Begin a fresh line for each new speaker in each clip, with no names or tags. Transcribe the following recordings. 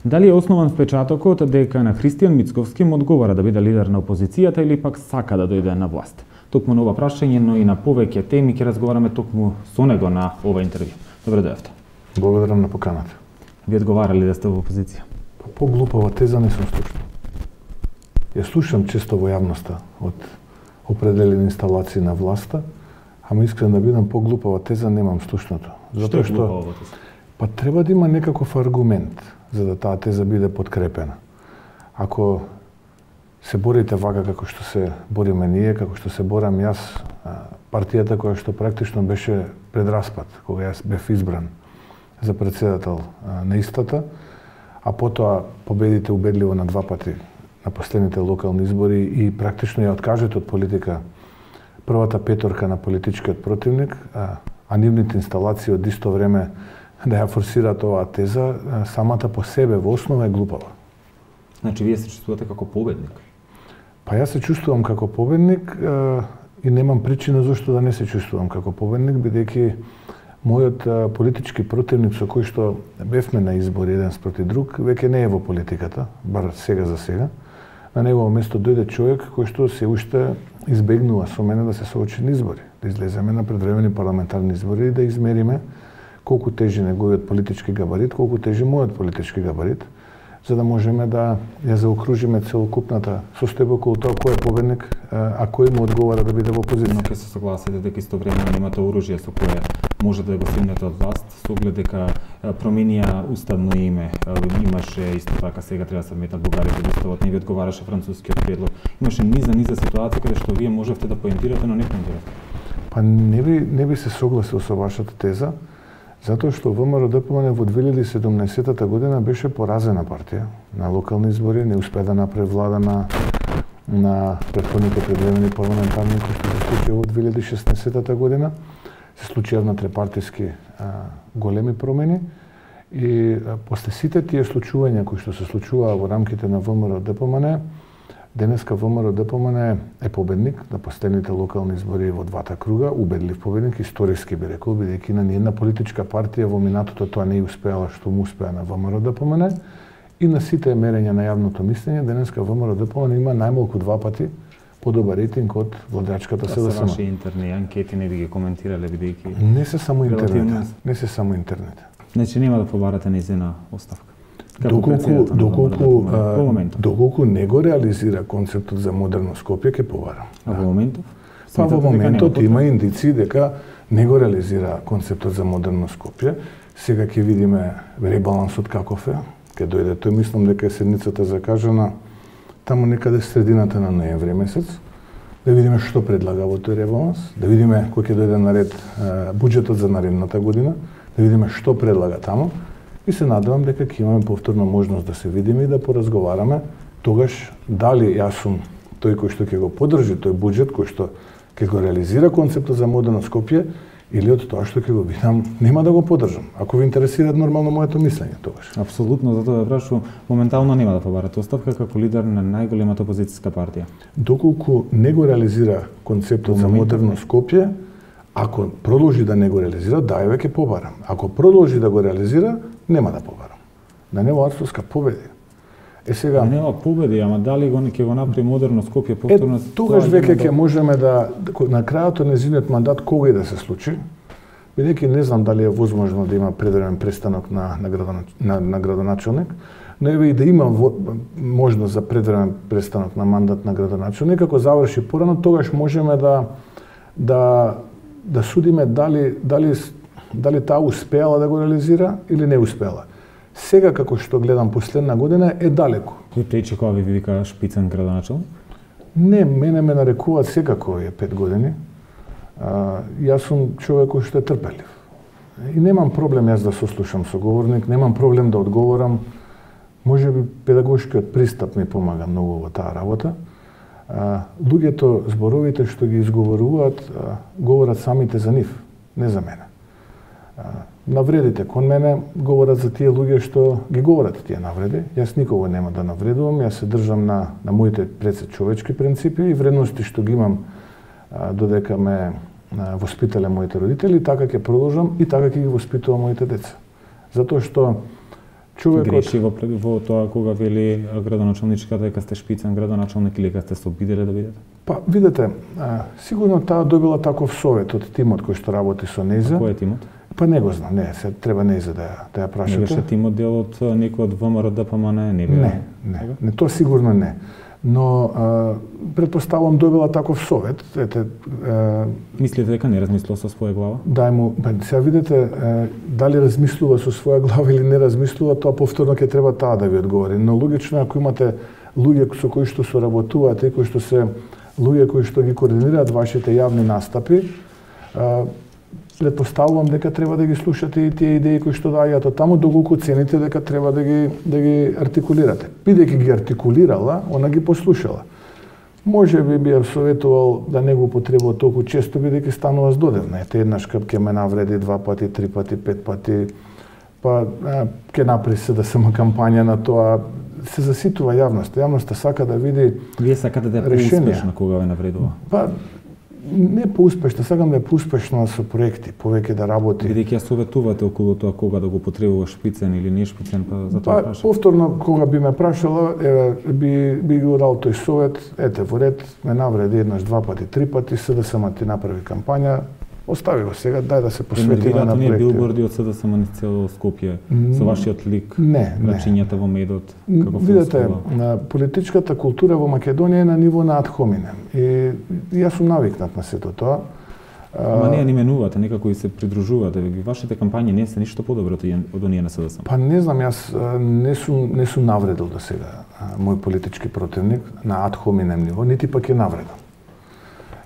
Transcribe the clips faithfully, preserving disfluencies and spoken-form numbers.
Дали е основан впечатокот дека на Христијан Мицковски му одговара да биде лидер на опозицијата или пак сака да дојде на власт? Токму на ова прашање, но и на повеќе теми ќе разговараме токму со него на ова интервју. Добре дојавте.
Благодарам на поканата.
Ви одговарали да сте во опозиција?
Поглупава теза не сум слушнал. Ја слушам често во јавноста од определени инсталации на власта, ама искрен да бидам, поглупава теза немам слушнато.
Затоа што, што
па треба да има некаков аргумент за да таа теза биде подкрепена. Ако се борите вака како што се бориме ние, како што се борам јас, партијата која што практично беше пред распад, кога јас бев избран за председател на истата, а потоа победите убедливо на два пати на последните локални избори и практично ја откажете од политика првата петорка на политичкиот противник, а, а нивните инсталации од исто време да ја форсираат оваа теза, самата по себе во основа е глупава.
Значи, вие се чувствувате како победник?
Па јас се чувствувам како победник а, и немам причина зашто да не се чувствувам како победник, бидејќи мојот а, политички противник со кој што бевме на избори еден спроти друг, веќе не е во политиката, бар сега за сега. На негово место дојде човек кој што се уште избегнува со мене да се соочи на избори, да излеземе на предвремени парламентарни избори и да измериме колку тежи неговиот политички габарит, колку тежи мојот политички габарит, за да можеме да ја заокружиме целокупната состојба околу тоа кој е победник, а кој му одговара да биде во опозиција.
Но ќе се согласите дека истовремено имате оружје со кое може да го стигнете од власт, со оглед дека променија уставно име, имаше исто така сега треба да се метнат бугарите во уставот, не ви одговараше францускиот предлог. Имаше низа низа ситуации каде што вие можевте да поентирате, но не поентирате.
Па не би не би се согласил со вашата теза, затоа што ВМРО-ДПМН во две илјади и седумнаесетта година беше поразена партија на локални избори, не успеа да направи влада на на претходните предвремени парламентарни кои што се случија во две илјади и шеснаесетта година. Се случија внатре-партиски големи промени и а, после сите тие случувања кои што се случуваа во рамките на ВМРО-ДПМН, денеска ВМРО-ДПМН е победник на последните локални избори во двата круга, убедлив победник, историски би рекол, бидејќи на ниедна политичка партија во минатото тоа не успеала што му успеа на ВМРО-ДПМН и на сите мерења на јавното мислење, денеска ВМРО-ДПМН има најмалку два пати подобар рейтинг од владачката СДСМ.
Тоа се ваши интерни анкети, не ви ги коментирале бидејќи
не се само интернет, не се само интернет.
Значи нема да побарате нејзина оставка.
Доколку доколку доколку не го реализира концептот за модерно Скопје ќе побара.
А во моментов?
Па во моментот има индици дека не го реализира концептот за модерно Скопје. Сега ќе видиме ребалансот каков е, ќе дојде тој, мислам дека е седницата закажана таму некаде средината на ноември месец, да видиме што предлага во тој ребаланс, да видиме кој ќе дојде на ред буџетот за наредната година, да видиме што предлага таму и се надевам дека ќе имаме повторно можност да се видиме и да поразговараме тогаш дали јас сум тој кој што ќе го поддржи тој буџет кој што ќе го реализира концептот за модерно Скопје или од тоа што ќе го видам нема да го поддржам. Ако ви интересира нормално моето мислење тогаш.
Апсолутно, затоа ве прашувам, моментално нема да побарате оставка како лидер на најголемата опозицијска партија.
Доколку не го реализира концептот за модерно Скопје, ако продолжи да не го реализира, да, еве ќе побарам. Ако продолжи да го реализира, нема да побарам. Да не во Арцовска победи. Е сега
нема победи, ама дали го ќе го направи модерно Скопје повторно?
Е, тогаш веќе ќе можеме да на крајот на нејзиниот мандат кога и да се случи, бидејќи не знам дали е возможно да има предвремен престанок на на, градонач... на, на градоначелник, но еве и да има во... можност за предвремен престанок на мандат на градоначелник, ако заврши порано, тогаш можеме да да да судиме дали дали дали таа успеала да го реализира или не успеала. Сега како што гледам последна година е далеко.
И пречи кога ви вика шпицен градоначелник?
Не, мене ме нарекуваат секако е пет години. А, јас сум човек кој што е трпелив. И немам проблем јас да сослушам соговорник, немам проблем да одговорам. Може би педагошкиот пристап ми помага многу во таа работа. А, луѓето, зборовите што ги изговоруваат, а, говорат самите за нив, не за мене. А, навредите кон мене говорат за тие луѓе што ги говорат тие навреди. Јас никого нема да навредувам, јас се држам на, на моите пред човечки принципи и вредности што ги имам а, додека ме а, воспитале моите родители, така ќе продолжам и така ќе ги воспитувам моите деца. Затоа што Човекот
греши во, во тоа кога вели градоначалничката дека сте шпицен градоначалник или дека сте се обиделе да бидете?
Па, видете, а, сигурно таа добила таков совет од тимот кој што работи со нејза.
Кој е тимот?
Па не го знам, не, се треба нејза да ја да ја прашате.
Не беше тимот дел од некој од ВМРО Д П М Н, не бе?
Не, не, не, тоа сигурно не. Но а, предпоставувам добила таков совет, ете, а,
мислите дека не размислува со своја глава?
Дај му, сега видите, а, дали размислува со своја глава или не размислува, тоа повторно ќе треба таа да ви одговори. Но логично ако имате луѓе со кои што соработуваат и кои што се луѓе кои што ги координираат вашите јавни настапи, а, предпоставувам дека треба да ги слушате и тие идеи кои што дајат од таму, доколку цените дека треба да ги да ги артикулирате. Бидејќи ги артикулирала, она ги послушала. Може би би ја советувал да не го употребува толку често, бидејќи станува здодевна. Ете, еднаш ќе ме навреди два пати, три пати, пет пати, па ќе направи се да сама кампања на тоа. Се заситува јавноста. Јавноста сака да види.
Вие сакате да е поуспешна кога ве навредува?
Па не поуспешна, сакам да е поуспешна со проекти, повеќе да работи.
Бидејќи ја советувате околу тоа кога да го потребува шпицен или не шпицен, па за тоа
па,
прашам.
Повторно кога би ме прашала, е, би би го дал тој совет, ете во ред, ме навреди еднаш, два пати, три пати, С Д С М ти направи кампања, остави го сега, дај да се посветиме на проекти.
Не билборди од С Д С М низ цело Скопје со вашиот лик,
не,
рачињата во медот, како
видете, на политичката култура во Македонија е на ниво на ad hominem и јас сум навикнат на сето тоа.
Ама не ја именувате, некако и се придружувате. Вашите кампањи не се ништо подобро од оние на С Д С М.
Па не знам, јас не сум не сум навредил до сега мој политички противник на ad hominem ниво, нити пак е навредил.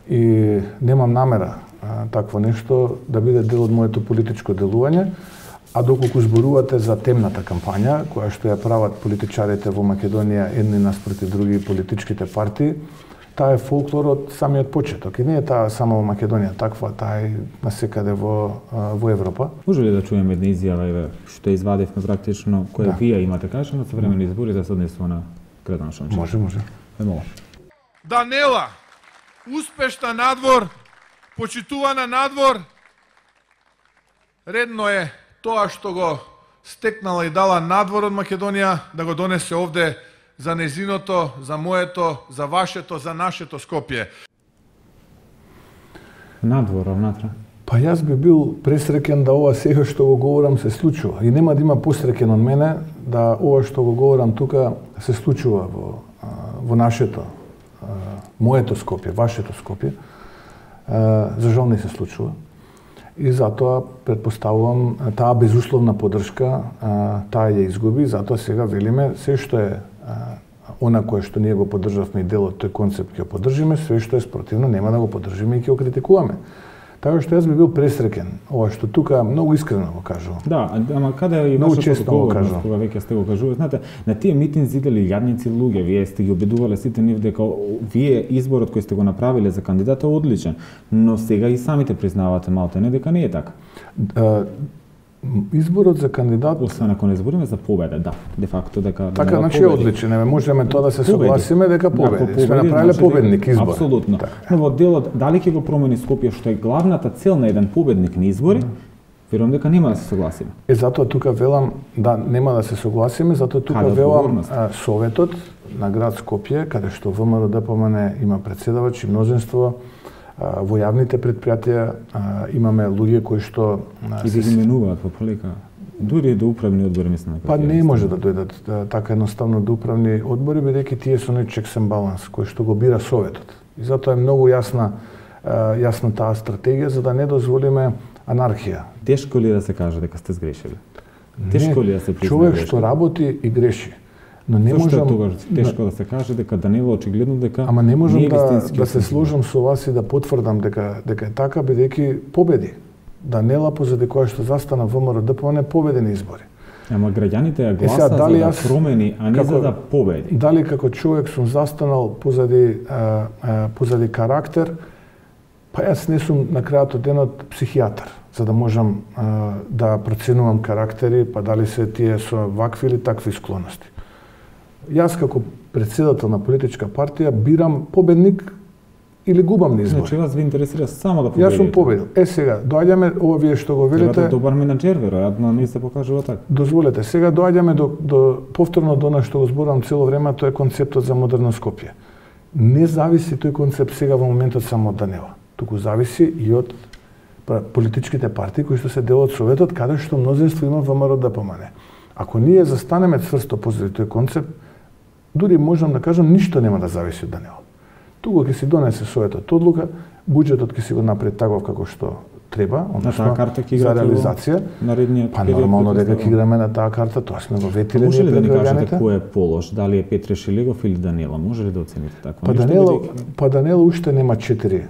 И немам намера такво нешто да биде дел од моето политичко делување, а доколку зборувате за темната кампања, која што ја прават политичарите во Македонија едни наспроти други политичките партии, таа е фолклор од самиот почеток. И не е таа само во Македонија таква, таа е насекаде во, во Европа.
Може ли да чуеме една изјава што извадивме практично, која да. Вие имате кажано со времени избори да се однесува на градоначалник?
Може, може.
Емо.
Данела, успешна надвор, почитувана надвор, редно е тоа што го стекнала и дала надвор од Македонија, да го донесе овде за незиното, за моето, за вашето, за нашето Скопје.
Надвор, внатре?
Па јас би бил пресреќен да ова сега што го говорам се случува. И нема да има посреќен од мене да ова што го говорам тука се случува во, во нашето, моето Скопје, вашето Скопје. За жал не се случува. И затоа предпоставувам таа безусловна поддршка, таа ја изгуби, затоа сега велиме се што е она кое што ние го поддржавме и дел од тој концепт ќе го поддржиме, се што е спротивно нема да го поддржиме и ќе го критикуваме. Така што јас би бил пресреќен, ова што тука многу искрено го кажувам.
Да, ама каде е и вашата одговорност кога веќе сте го кажували? Знаете, на тие митинзи идели јадници луѓе, вие сте ги убедувале сите нив дека вие изборот кој сте го направиле за кандидат е одличен, но сега и самите признавате малтене дека не е така.
Изборот за кандидат,
освен ако не збориме за победа, да, де факто дека
така значи е одличен, не можеме тоа да се согласиме дека победи. Сме направиле победник избор.
Апсолутно. Но во делот дали ќе го промени Скопје што е главната цел на еден победник на избори, верувам дека нема да се согласиме.
Е затоа тука велам да нема да се согласиме, затоа тука Каде велам а, советот на град Скопје, каде што В М Р Д П М Н има претседавач и мнозинство. Во јавните предпријатија имаме луѓе кои што
и се именуваат по полека. Дури до управни одбори мислам дека.
Па не може да дојдат така едноставно до управни одбори, бидејќи тие се оној checks and balance кој што го бира советот. И затоа е многу јасна јасна таа стратегија за да не дозволиме анархија.
Тешко ли да се каже дека сте сгрешили? Тешко ли да се призна?
Човек што работи и греши. Но не
Зошто
можам
е тогаш тешко да се каже дека Данило очигледно дека
Ама не можам
не
да, да се сложам со вас и да потврдам дека дека е така бидејќи победи. Данела позади која што застана В М Р Д П М Н победи на избори.
Ама граѓаните ја гласат за да промени, а не како, за да победи.
Дали како човек сум застанал позади а, а, позади карактер, па јас не сум на крајот од денот психијатар, за да можам а, да проценувам карактери, па дали се тие со вакви или такви склоности. Јас како претседател на политичка партија бирам победник или губам на избори.
Значи вас ви интересира само да победите.
Јас сум победил. Е сега, доаѓаме ова вие што го велите.
Треба добар менаџер, веројатно не се покажува така.
Дозволете, сега доаѓаме до, до повторно до она што го зборувам цело време, тоа е концептот за модерно Скопје. Не зависи тој концепт сега во моментот само од Данила. Туку зависи и од политичките партии кои што се дел од Советот, каде што мнозинство има ВМРО ДПМН. Ако ние застанеме цврсто позади тој концепт, дури можам да кажам ништо нема да зависи од Данила. Туку ќе си донесе Советот одлука, буџетот ќе си го направи таков како што треба, односно за реализација. Па нормално дека ќе играме на таа карта, тоа сме го ветиле.
Може ли да ни кажете кој е полош, дали е Петре Шилегов или Данила? Може ли да оцените така?
Па Данила, па Данила уште нема четири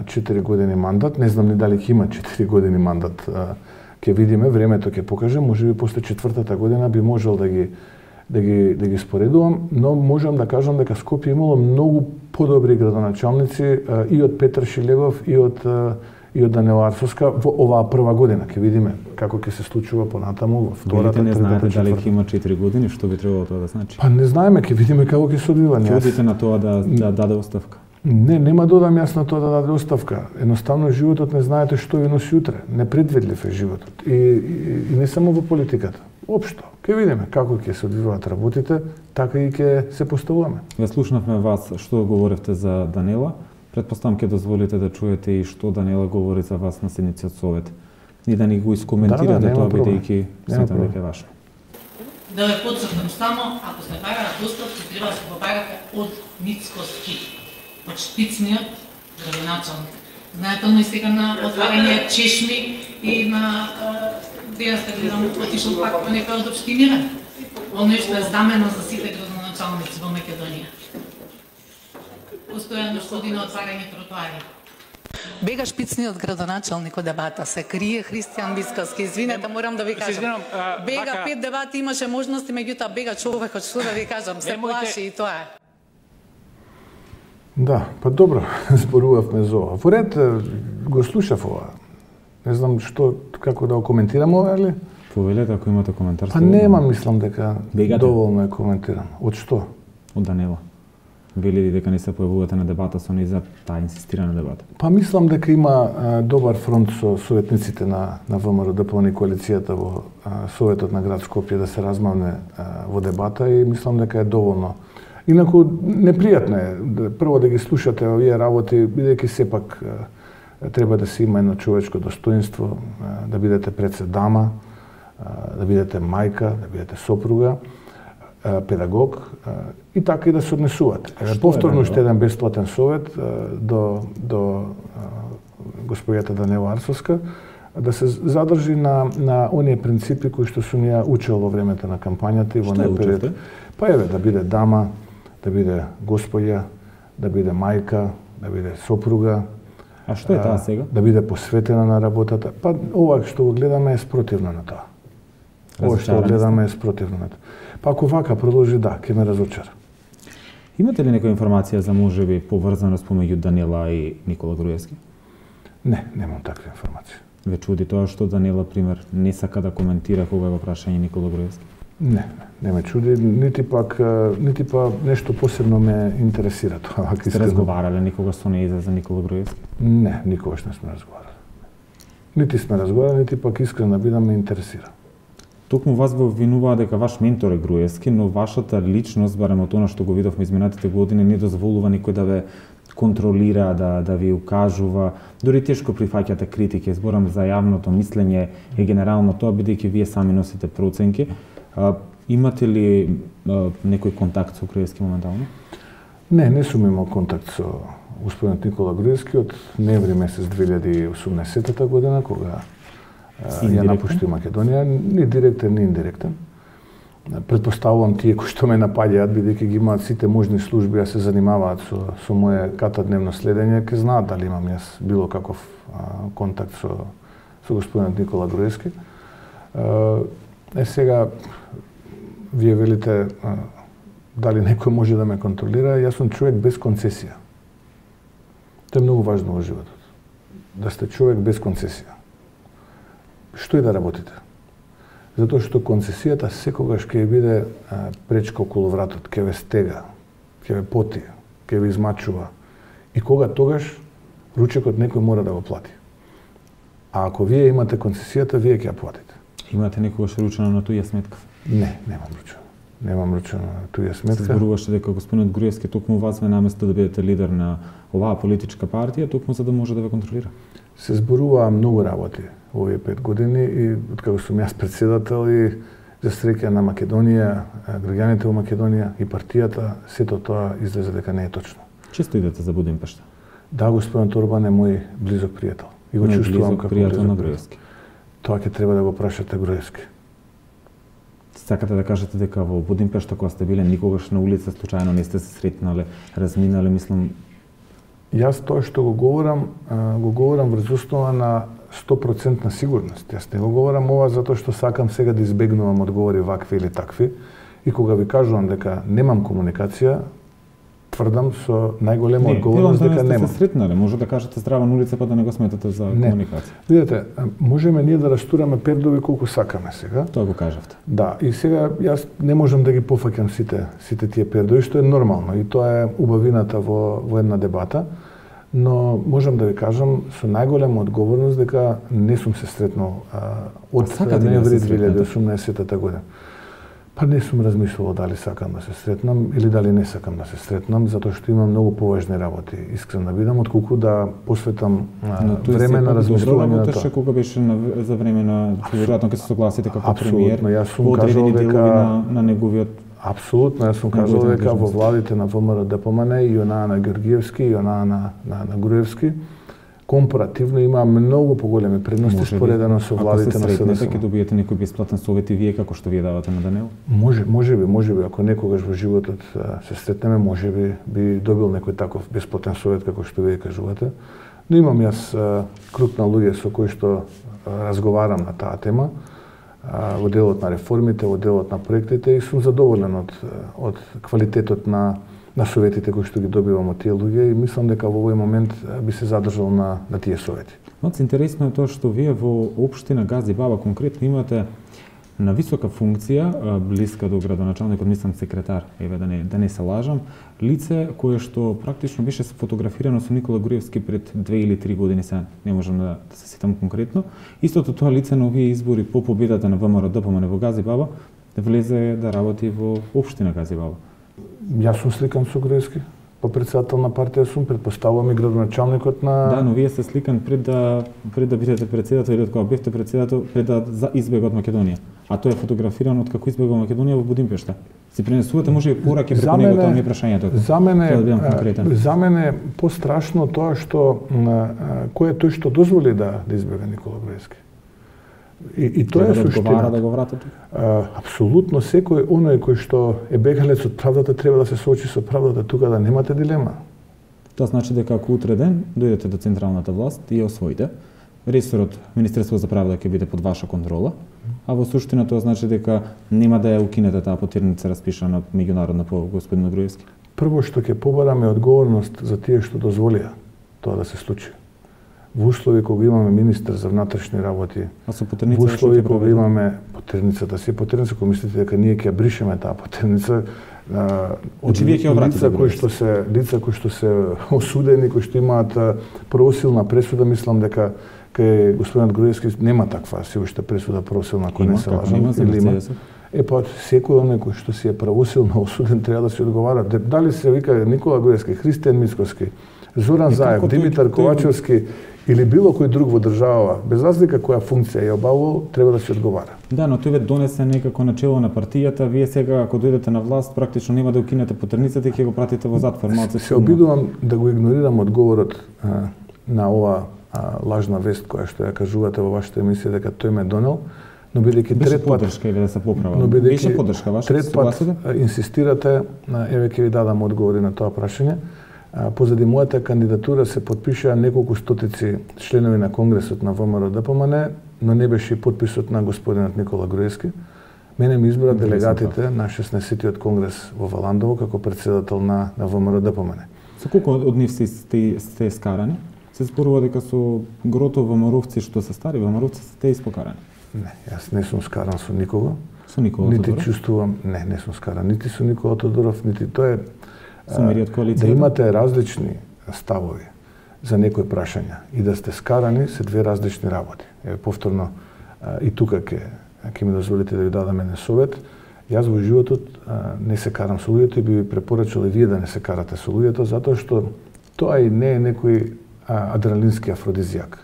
четири години мандат, не знам ни дали ќе има четири години мандат. Ќе видиме, времето ќе покаже, можеби после четвртата година би можел да ги да ги да ги споредувам, но можам да кажам дека Скопје имало многу подобри градоначалници и од Петар Шилегов и од и од Данила Арсовска во оваа прва година. Ќе видиме како ќе се случува понатаму во втората,
третата, четвртата. Не знаете дали ќе има четири години, што би требало тоа да значи?
Па не знаеме, ќе видиме како ќе се одвива.
Ќе одите на тоа да да даде оставка?
Не, нема да одам јас на тоа да даде оставка. Едноставно животот не знаете што ви носи утре. Непредвидлив е животот. И, и, и не само во политиката. Општо. Ќе видиме како ќе се одвиваат работите, така и ќе се поставуваме.
Ве слушнавме вас што говоревте за Данила. Предпоставам ќе дозволите да чуете и што Данила говори за вас на седници од Совет. И да ни го искоментирате, да, да, тоа бидејќи сметам дека е важно.
Да ве потсетам само, ако се бараат оставки, треба да се побарате од Мицкоски, од штицниот градоначалник. Знаете, оној сега на отварање чешми и на денес да гледам отишол пак по некој од општините. Оној што е знамено за сите градоначалници во Македонија. Постојано што оди на отварање тротоари. Бега шпицниот градоначалник од дебата, се крие Христијан Мицкоски. Извинете, морам да ви кажам. Бега пет дебати, имаше можности, меѓутоа бега човекот, што да ви кажам, се плаши и тоа е.
Да, па добро, зборувавме за ова. Во ред, го слушав ова. Не знам што, како да го коментирам ова, или?
Повелете, ако имате коментар.
Па нема, мислам дека доволно е коментирам. Од што?
Од Данила. Вели дека не се појавувате на дебата со неј за таа инсистирана дебата?
Па мислам дека има а, добар фронт со советниците на, на ВМРО ДПМН и коалицијата во а, Советот на град Скопје да се размавне а, во дебата и мислам дека е доволно. Инаку, непријатно е, прво да ги слушате овие работи, бидејќи сепак а, треба да се има едно човечко достоинство, а, да бидете пред се дама, а, да бидете мајка, да бидете сопруга, педагог и така и да се однесувате. Повторно уште еден бесплатен совет до до господјата Данила Арсовска да се задржи на на оние принципи кои што сум ја учел во времето на кампањата и во најпериод. Па еве да биде дама, да биде господја, да биде мајка, да биде сопруга.
А што е таа сега?
Да биде посветена на работата. Па ова што го гледаме е спротивно на тоа. Ова што го гледаме е спротивно на тоа. Па ако вака продолжи, да, ќе ме разочара.
Имате ли некоја информација за можеби поврзаност помеѓу Данила и Никола Груевски?
Не, немам таква информација.
Ве чуди тоа што Данила, пример, не сака да коментира кога е во прашање Никола Груевски?
Не, не ме чуди, нити пак нити па нешто посебно ме интересира тоа.
Сте разговарале никогаш со неј за Никола Груевски?
Не, никогаш не сме разговарале. Нити сме разговарале, нити пак искрено да бидам ме интересира.
Токму вас го обвинуваа дека ваш ментор е Груевски, но вашата личност, барем од она што го видовме изминатите години, не дозволува никој да ве контролира, да да ви укажува, дури тешко прифаќате критики, зборам за јавното мислење и генерално тоа, бидејќи вие сами носите проценки. А, имате ли а, некој контакт со Груевски моментално?
Не, не сум имал контакт со господинот Никола Груевски од ноември месец две илјади и осумнаесетта година, кога ја напушти Македонија, ни директен, ни индиректен. Предпоставувам тие кои што ме напаѓаат, бидејќи ги имаат сите можни служби, а се занимаваат со, со моје катадневно следење, ќе знаат дали имам јас било каков а, контакт со, со господинот Никола Груевски. Е, сега, вие велите а, дали некој може да ме контролира, јас сум човек без концесија. Тоа е многу важно во животот. Да сте човек без концесија. Што и да работите. Затоа што концесијата секогаш ќе биде а, пречка околу вратот, ќе ве стега, ќе ве поти, ќе ве измачува И кога тогаш ручекот некој мора да го плати. А ако вие имате концесијата, вие ќе ја платите.
Имате некогаш ручено на туја сметка?
Не, немам ручено. Немам ручено на туја сметка.
Се зборуваше дека господинот Груевски токму вас ве наместо да бидете лидер на оваа политичка партија, токму за да може да ве контролира.
Се зборуваа многу работи во овие пет години и откако сум јас председател и за среќа на Македонија, граѓаните во Македонија и партијата, сето тоа излезе дека не е точно.
Често идете за Будимпешта?
Да, господинот Орбан е мој близок пријател. И го чувствувам како
пријател на Груевски.
Тоа ќе треба да го прашате Груевски.
Сакате да кажете дека во Будимпешта кога сте биле никогаш на улица случајно не сте се сретнале, разминале, мислам.
Јас тоа што го говорам, го говорам врз основа на сто проценти сигурност. Јас не го говорам ова затоа што сакам сега да избегнувам одговори вакви или такви. И кога ви кажувам дека немам комуникација, тврдам со најголема одговорност дека немам.
Не, се сретнале, може да кажете здраво на улица па да не го сметате за
не.
комуникација.
Видете, можеме ние да растураме пердови колку сакаме сега.
Тоа го кажавте.
Да, и сега јас не можам да ги пофаќам сите сите тие пердови, што е нормално и тоа е убавината во во една дебата. Но можам да ви кажам со најголема одговорност дека не сум се сретнал а, од ноември две илјади и осумнаесетта година. Па не сум размислувал дали сакам да се сретнам или дали не сакам да се сретнам, затоа што имам многу поважни работи, искрен да бидам, отколку да посветам а, време на размислување на тоа.
Кога беше на, за време на веројатно ќе се согласите како премиер,
јас сум кажал дека
на, на неговиот.
Апсолутно, јас сум кажал дека во владите на ВМРО-ДПМН и онаа на Георгиевски и онаа на, на, на Груевски компаративно има многу поголеми предности споредено со владите на СДСМ.
Ако се сретнете, ќе добиете некој бесплатен совет и вие како што вие давате на Данел?
Може, може би, може би, ако некогаш во животот се сретнеме, може би би добил некој таков бесплатен совет како што вие кажувате. Но имам јас круг на луѓе со кои што разговарам на таа тема во делот на реформите, во делот на проектите и сум задоволен од од квалитетот на на советите кои што ги добивам од тие луѓе и мислам дека во овој момент би се задржал на на тие совети.
Но интересно е тоа што вие во општина Гази Баба конкретно имате на висока функција, блиска до градоначалникот, мислам секретар, еве да не да не се лажам, лице кое што практично беше фотографирано со Никола Груевски пред две или три години, се не можам да, да се сетам конкретно. Истото тоа лице на овие избори по победата на ВМРО-ДПМН во Гази Баба влезе да работи во општина Гази Баба.
Јас сум сликан со Груевски, по председател на партија сум, предпоставувам и градоначалникот на...
Да, но вие сте сликан пред да пред да бидете председател или кога бевте председател пред да избега од Македонија. А тој е фотографиран од како избега од Македонија во Будимпешта. Се пренесувате може и пораки преку него, тоа ми е прашањето.
За мене, за мене пострашно тоа што кој е тој што дозволи да да избега Никола Груевски. И, и тоа е суштина.
Да го врата
а, апсолутно секој оној кој што е бегалец од правдата треба да се соочи со правдата, тука да немате дилема.
Тоа значи дека ако утре ден дојдете до централната власт и ја освоите, ресорот Министерство за правда ќе биде под ваша контрола, а во суштина тоа значи дека нема да ја укинете таа потерница распишана меѓународна по господин Груевски.
Прво што ќе побараме одговорност за тие што дозволија тоа да се случи. Во услови кога имаме министер за внатрешни работи,
а со потерница
во услови кога имаме потерницата, се потерница, кога мислите дека ние ќе ја бришеме таа потерница, од лица кои што се лица кои што се осудени, кои што имаат правосилна пресуда, мислам дека кај господинот Груевски нема таква се уште пресуда правосилна, кој не се лажам, или има. Е па секој оној кој што си е правосилно осуден треба да се одговара. Дали се вика Никола Груевски, Христијан Мицкоски, Зоран Заев, Димитар Ковачевски или било кој друг во држава, без разлика која функција ја обавувал, треба да се одговара.
Да, но тој ве донесе некако начело на партијата, вие сега ако дојдете на власт, практично нема да укинете потерницата и ќе го пратите во затвор.
Малце се обидувам да го игнорирам одговорот а, на ова а, лажна вест која што ја кажувате во вашата емисија дека тој ме донел, но бидејќи трет пат
поддршка еве да се поправам.
Но
беше поддршка ваша,
трет пат инсистирате, еве ќе ви дадам одговори на тоа прашање. Позади мојата кандидатура се потпишаа неколку стотици членови на Конгресот на ВМРО-ДПМН, но не беше и подписот на господинот Никола Груевски. Мене ми избра делегатите на шеснаесеттиот Конгрес во Валандово како председател на, на ВМРО-ДПМН.
Со колку од нив сте, сте, сте скарани? Се зборува дека со грото ВМРО-вци што се стари ВМРО-вци сте испокарани?
Не, јас не сум скаран со никого.
Со Никола
нити
Тодоров?
Нити чувствувам, не, не сум скаран, нити со Никола Тодоров, нити тоа е
да
имате различни ставови за некои прашања и да сте скарани се две различни работи. Еве повторно и тука ќе ќе ми дозволите да ви дадам еден совет. Јас во животот не се карам со луѓето и би ви препорачал и вие да не се карате со луѓето, затоа што тоа и не е некој адреналински афродизијак.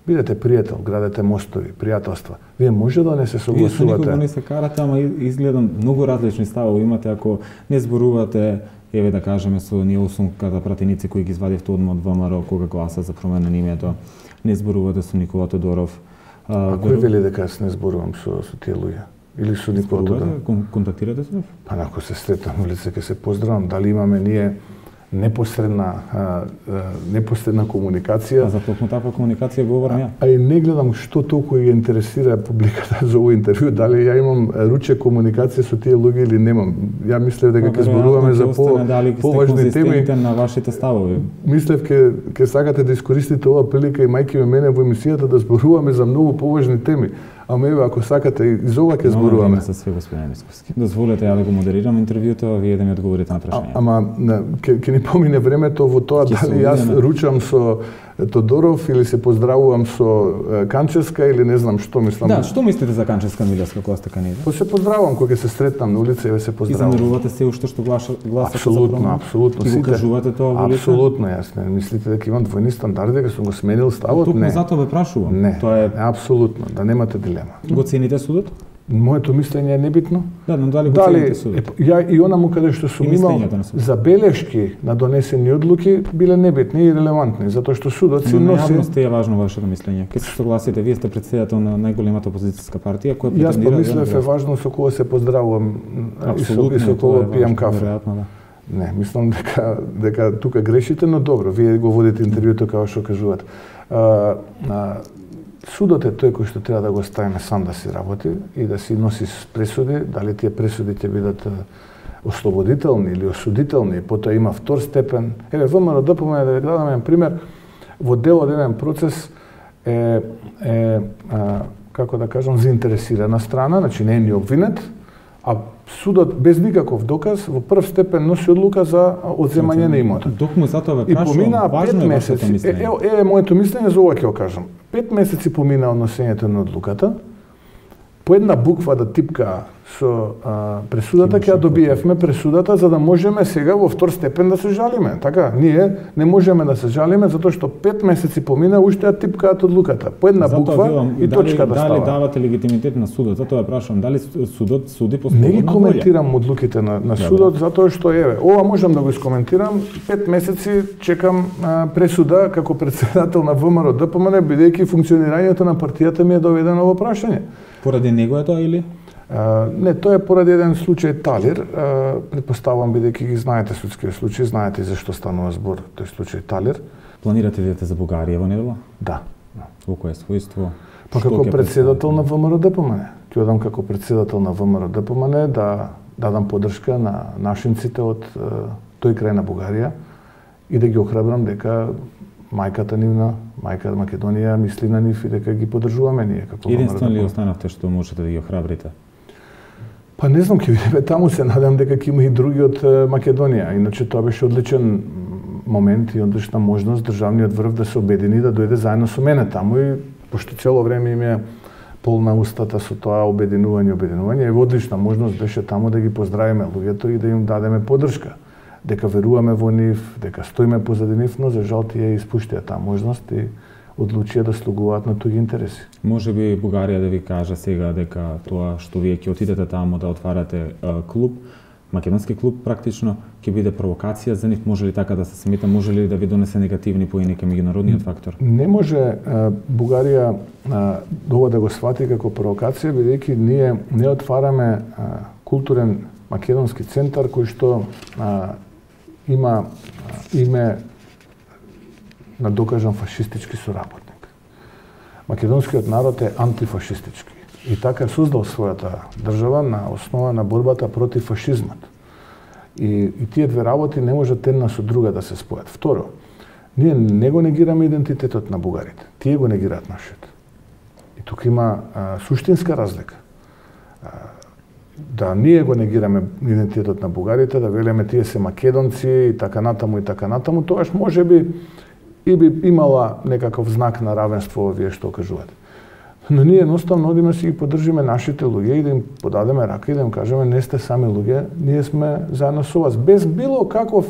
Бидете пријател, градете мостови, пријателства. Вие може да не се согласувате.
Вие со никого не се карате, ама изгледам многу различни ставови имате ако не зборувате, еве да кажеме со ние осумката пратеници кои ги извадивте одма од ВМРО кога гласа за промена на името, не зборувате со Никола Тодоров.
А, а кој вели дека јас не зборувам со со тие луѓе? Или со Никола Тодоров?
Контактирате со нив?
Па ако се сретнам во лице ќе се поздравам, дали имаме ние непосредна а, а, непосредна комуникација.
А за токму таква комуникација говорам ја.
А и не гледам што толку ја интересира публиката за овој интервју, дали ја имам руче комуникација со тие луѓе или немам. Ја мислев дека ќе зборуваме за по поважни теми
на вашите ставови.
Мислев ќе ќе сакате да искористите оваа прилика и мајки ме мене во емисијата да зборуваме за многу поважни теми. Ама еве ако сакате и за ова ќе зборуваме.
За све господин Мисковски. Дозволете ја да го модерирам интервјуто, а вие да ми одговорите на прашања.
Ама ќе ќе ни помине времето во тоа дали јас ручам со Тодоров или се поздравувам со Канчевска или не знам што мислам.
Да, што мислите за Канчевска Милевска кога сте кандидат?
Па се поздравувам кога ќе се сретнам на улица, еве се поздравувам.
И замерувате се уште што гласа гласате за
апсолутно, апсолутно.
И го кажувате тоа во лице?
Апсолутно, јас не мислите дека имам двојни стандарди, дека сум го сменил ставот?
Туку
не.
затоа ве прашувам.
Не,
тоа е
апсолутно, да немате дилема.
Го цените судот?
Моето мислење е небитно.
Да, но дали го
дали,
цените судот?
Ја и онаму каде што сум имал забелешки на донесени одлуки биле небитни и релевантни, затоа што судот си
носи.
носи.
Но јавност е важно вашето мислење. Ке се согласите, вие сте претседател на најголемата опозицијска партија која претендира.
Јас помислев е важно со кого се поздравувам и со, и со кого пијам кафе.
Веројатно, да.
Не, мислам дека дека тука грешите, но добро, вие го водите интервјуто како што кажувате. А, а, Судот е тој кој што треба да го ставиме сам да си работи и да си носи пресуди, дали тие пресуди ќе бидат ослободителни или осудителни, потоа има втор степен. Еве ВМРО ДПМНЕ, да ви дадам еден пример, во дел од еден процес е, е а, како да кажам, заинтересирана страна, значи не е ни обвинет, а судот без никаков доказ во прв степен носи одлука за одземање на имотот.
Токму затоа ве
И
прашувам,
поминаа
важно
пет
е вашето
месеци.
мислење.
Е, е, е моето мислење, за ова ќе го кажам. Пет месеци поминаа од носењето на одлуката. По една буква да типка со а, пресудата, ќе ја добиевме пресудата за да можеме сега во втор степен да се жалиме. Така, ние не можеме да се жалиме затоа што пет месеци помина уште ја типкаат одлуката. По една
Затоа
буква
вилам,
и точка
дали,
да става.
Дали давате легитимитет на судот? Затоа ја прашувам, дали судот суди по слободна
Не ги
волја?
коментирам одлуките на, на судот затоа што еве, ова можам да го искоментирам, пет месеци чекам а, пресуда како председател на ВМРО ДПМНЕ бидејќи функционирањето на партијата ми е доведено во прашање.
Поради него е тоа или?
А, не, тоа е поради еден случај Талир. А, предпоставувам бидејќи ги знаете судскиот случај, знаете за што станува збор тој случај Талир.
Планирате да идете за Бугарија во недела?
Да.
Во кое својство?
Па како председател на ВМРО ДПМНЕ. Ќе одам како председател на ВМРО ДПМНЕ да дадам поддршка на нашинците од тој крај на Бугарија и да ги охрабрам дека мајката нивна, мајка Македонија мисли на нив и дека ги поддржуваме ние како
Единствено ли останавте што можете да ги охрабрите?
Па не знам, ќе видиме таму, се надам дека ќе има и други од Македонија. Иначе тоа беше одличен момент и одлична можност државниот врв да се обедини да дојде заедно со мене таму и пошто цело време им е полна устата со тоа обединување, обединување, и одлична можност беше таму да ги поздравиме луѓето и да им дадеме поддршка. Дека веруваме во нив, дека стоиме позади нив, но за жал тие испуштија таа можност и одлучија да слугуваат на туѓи интереси.
Може би Бугарија да ви каже сега дека тоа што вие ќе отидете таму да отварате а, клуб, македонски клуб практично, ќе биде провокација за нив, може ли така да се смета, може ли да ви донесе негативни поени кај меѓународниот фактор?
Не може а, Бугарија а, ова да го свати како провокација, бидејќи ние не отвараме а, културен македонски центар кој што а, има а, име на докажан фашистички соработник. Македонскиот народ е антифашистички и така создал својата држава на основа на борбата против фашизмот. И, и тие две работи не можат една со друга да се спојат. Второ, ние не го негираме идентитетот на бугарите. Тие го негираат нашиот. И тука има а, суштинска разлика. А, да ние го негираме идентитетот на бугарите, да велиме тие се македонци и така натаму и така натаму, тогаш можеби и би имала некаков знак на равенство овие што кажуваат. Но ние едноставно одиме си ги поддржиме нашите луѓе и да им подадеме рака и да им кажеме не сте сами луѓе, ние сме заедно со вас, без било каков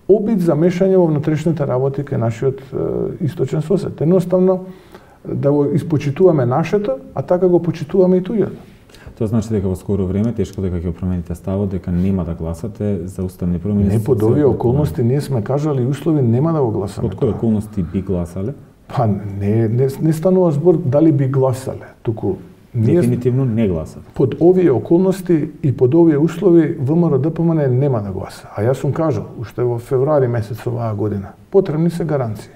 обид за мешање во внатрешните работи кај нашиот е, источен сосед. Едноставно да го испочитуваме нашето, а така го почитуваме и туѓото.
Тоа значи дека во скоро време тешко дека ќе промените ставот, дека нема да гласате за уставни промени.
Не под овие околности ние сме кажали и услови нема да го гласаме.
Под кои околности би гласале?
Па не не не станува збор дали би гласале, туку ние
дефинитивно не гласат.
Под овие околности и под овие услови ВМРО-ДПМН нема да гласа. А јас сум кажал уште во февруари месец оваа година, потребни се гаранции.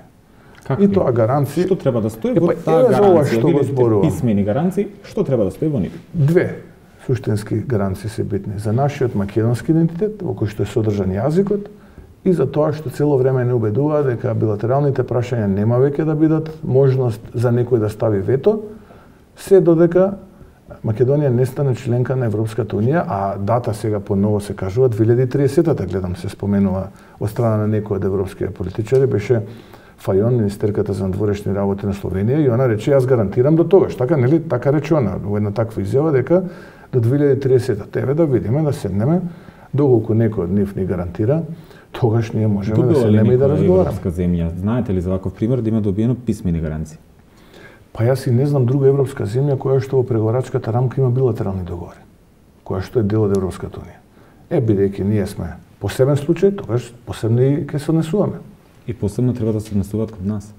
Какви?
И тоа гаранции.
Што треба да стои
е,
во
па,
таа гаранција?
Што го зборувам.
Писмени гаранции, што треба да стои во нив?
Две суштински гаранции се битни за нашиот македонски идентитет, во кој што е содржан јазикот, и за тоа што цело време не убедува дека билатералните прашања нема веќе да бидат можност за некој да стави вето, се додека Македонија не стане членка на Европската унија, а дата сега поново се кажува две илјади и триесета, гледам се споменува од страна на некои од европските политичари, беше Фајон, министерката за надворешни работи на Словенија, и она рече јас гарантирам до тогаш, така нели, така рече она во една таква изјава дека до две илјади и триесета. Тебе да видиме, да седнеме, доколку некој од нив ни гарантира, тогаш ние можеме
Добила
да седнеме и да разговараме.
Европска земја, знаете ли за ваков пример да има добиено писмени гаранции?
Па јас и не знам друга европска земја која што во преговарачката рамка има билатерални договори, која што е дел од Европската унија. Е, бидејќи ние сме посебен случај, тогаш посебно и ќе се однесуваме.
И посебно треба да се однесуваат кон нас,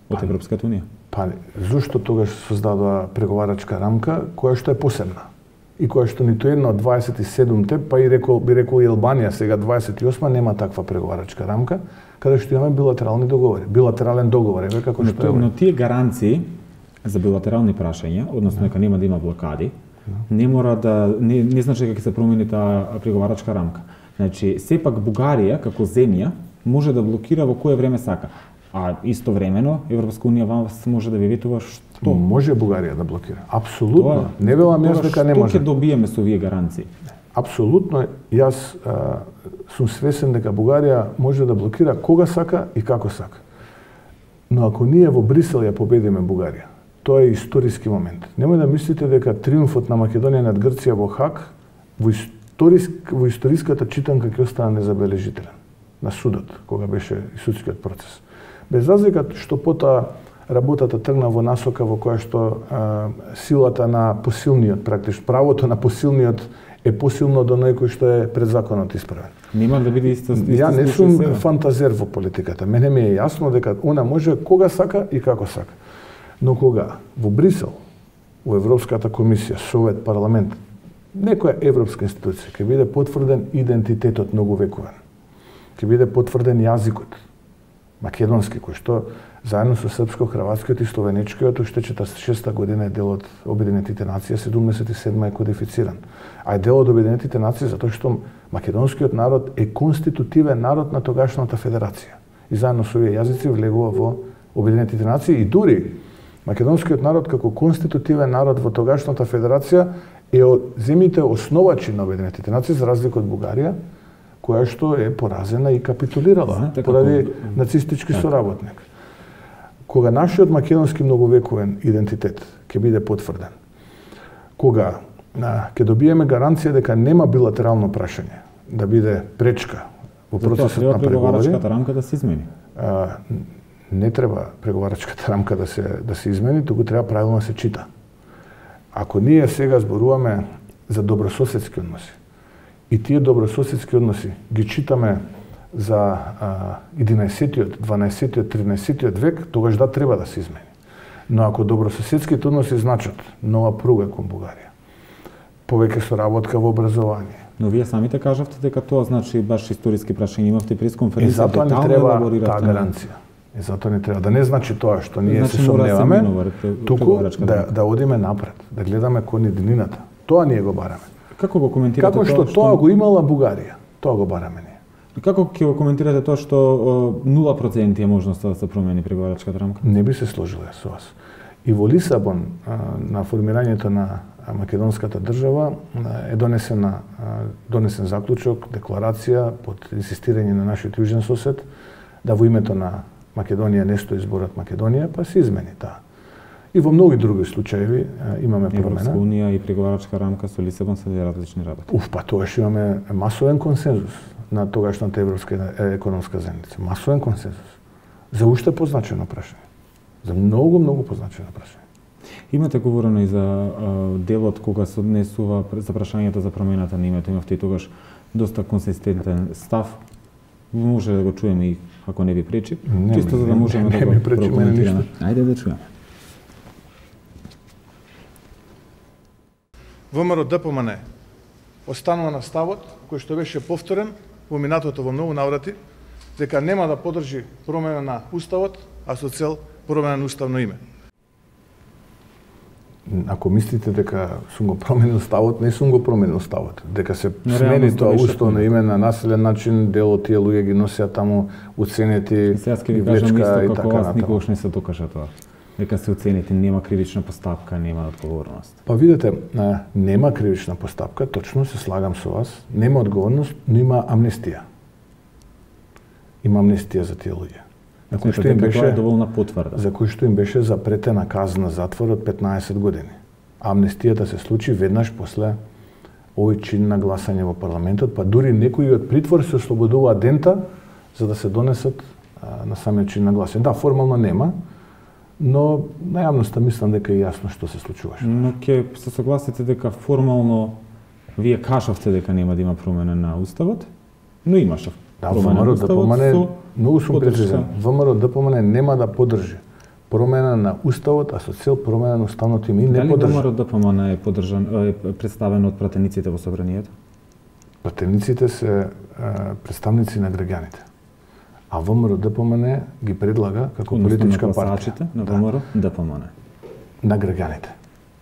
од па, Европската унија.
Па, зошто тогаш создадува преговарачка рамка која што е посебна? И која што ниту една од дваесет и седумте, па и рекол, би рекол и Албанија сега дваесет и осма, нема таква преговарачка рамка, каде што имаме билатерални договори. Билатерален договор, еве како
но,
што е.
Но тие гаранции за билатерални прашања, односно дека нема да има блокади, не мора да не, не значи дека ќе се промени таа преговарачка рамка. Значи, сепак Бугарија како земја може да блокира во кое време сака. А истовремено Европска унија вас може да ви ветува што?
Може Бугарија да блокира. Апсолутно. Тоа, не велам јас дека не може.
Што ќе добиеме со овие гаранции?
Апсолутно, јас а, сум свесен дека Бугарија може да блокира кога сака и како сака. Но ако ние во Брисел ја победиме Бугарија, тоа е историски момент. Немој да мислите дека триумфот на Македонија над Грција во Хаг во, историск, во историската читанка ќе остане незабележителен на судот, кога беше и судскиот процес. Без разлика што потоа работата тргна во насока во која што а, силата на посилниот, практично правото на посилниот е посилно од оној кој што е пред законот исправен.
Нема да биде исто.
Ја не сум фантазер во политиката. Мене ми е јасно дека она може кога сака и како сака. Но кога во Брисел, во Европската комисија, Совет, парламент, некоја европска институција ќе биде потврден идентитетот многувековен, ќе биде потврден јазикот македонски, кој што заедно со српско-хрватскиот и словенечкиот уште четиридесет и шеста година е дел од Обединетите нации, седумдесет и седма е кодифициран. А е дел од Обединетите нации затоа што македонскиот народ е конститутивен народ на тогашната федерација. И заедно со овие јазици влегува во Обединетите нации и дури македонскиот народ како конститутивен народ во тогашната федерација е од земјите основачи на Обединетите нации, за разлика од Бугарија, која што е поразена и капитулирала Знаете, поради како... нацистички так. соработник. Кога нашиот македонски многовековен идентитет ќе биде потврден, кога а, ќе добиеме гаранција дека нема билатерално прашање да биде пречка во процесот на преговори,
преговарачката рамка да се измени.
А, не треба преговарачката рамка да се да се измени, туку треба правилно да се чита. Ако ние сега зборуваме за добрососедски односи, и тие добрососедски односи ги читаме за а, единаесеттиот, дванаесеттиот, тринаесеттиот век, тогаш да треба да се измени. Но ако добрососедските односи значат нова пруга кон Бугарија, повеќе соработка во образование.
Но вие самите кажавте дека тоа значи баш историски прашања, имавте пресконференција,
и затоа не треба таа гаранција. И затоа не треба да не значи тоа што ние значи, се сомневаме, туку да да одиме напред, да гледаме кон иднината. Тоа ние го бараме.
Како го коментирате
Како што тоа, што... тоа го имала Бугарија, тоа го бараме ние.
Како ќе го коментирате тоа што нула проценти е можноста да се промени преговарачката рамка?
Не би се сложил со вас. И во Лисабон, на формирањето на македонската држава е донесена донесен заклучок, декларација под инсистирање на нашиот јужен сосед да во името на Македонија не стои зборот Македонија, па се измени таа. И во многу други случаи имаме промена.
Европска унија и преговарачка рамка со Лисабон се различни работи.
Уф, па тогаш имаме масовен консензус на тогашната Европска економска заедница. Масовен консензус. За уште позначено прашање. За многу, многу позначено прашање.
Имате говорено и за а, делот кога се однесува за прашањето за промената на името. Имавте и тогаш доста консистентен став. Може да го чуеме и ако не ви пречи,
не,
чисто за да можеме
не,
да
не
го
пречи
прокоментираме. Ајде да чуеме.
ВМРО-ДПМН останува на ставот кој што беше повторен во минатото во многу наврати, дека нема да поддржи промена на уставот, а со цел промена на уставно име.
Ако мислите дека сум го променил ставот, не сум го променил ставот. Дека се
Но
смени
реално
тоа
беше
уставно име на населен начин, дел од тие луѓе ги носеа таму уценети,
Сега ќе ви кажам исто како вас никогаш не се докажа тоа. Дека се оценете, нема кривична постапка, нема одговорност.
Па видете, нема кривична постапка, точно се слагам со вас, нема одговорност, но има амнестија. Има амнестија за тие луѓе. На кој што им беше
доволна потврда.
За кој што им беше запретена казна затвор од петнаесет години. Амнестијата се случи веднаш после овој чин на гласање во парламентот, па дури некои од притвор се ослободуваат дента за да се донесат а, на самиот чин на гласање. Да, формално нема, но на јавноста мислам дека е јасно што се случуваше.
Но ќе се согласите дека формално вие кажавте дека нема да има промена на уставот, но имаше
Да,
промена на
ВМРО-ДПМН,
уставот.
многу сум прецизен, ВМРО-ДПМН нема да поддржи промена на уставот, а со цел промена на уставното име и не
Дали
поддржа.
ВМРО-ДПМН е поддржан, е представен од пратениците во собранието?
Пратениците се е, представници на граѓаните. А ВМРО-ДПМН ги предлага како
Односно
политичка
на
партија.
гласачите на ВМРО-ДПМН.
На граѓаните.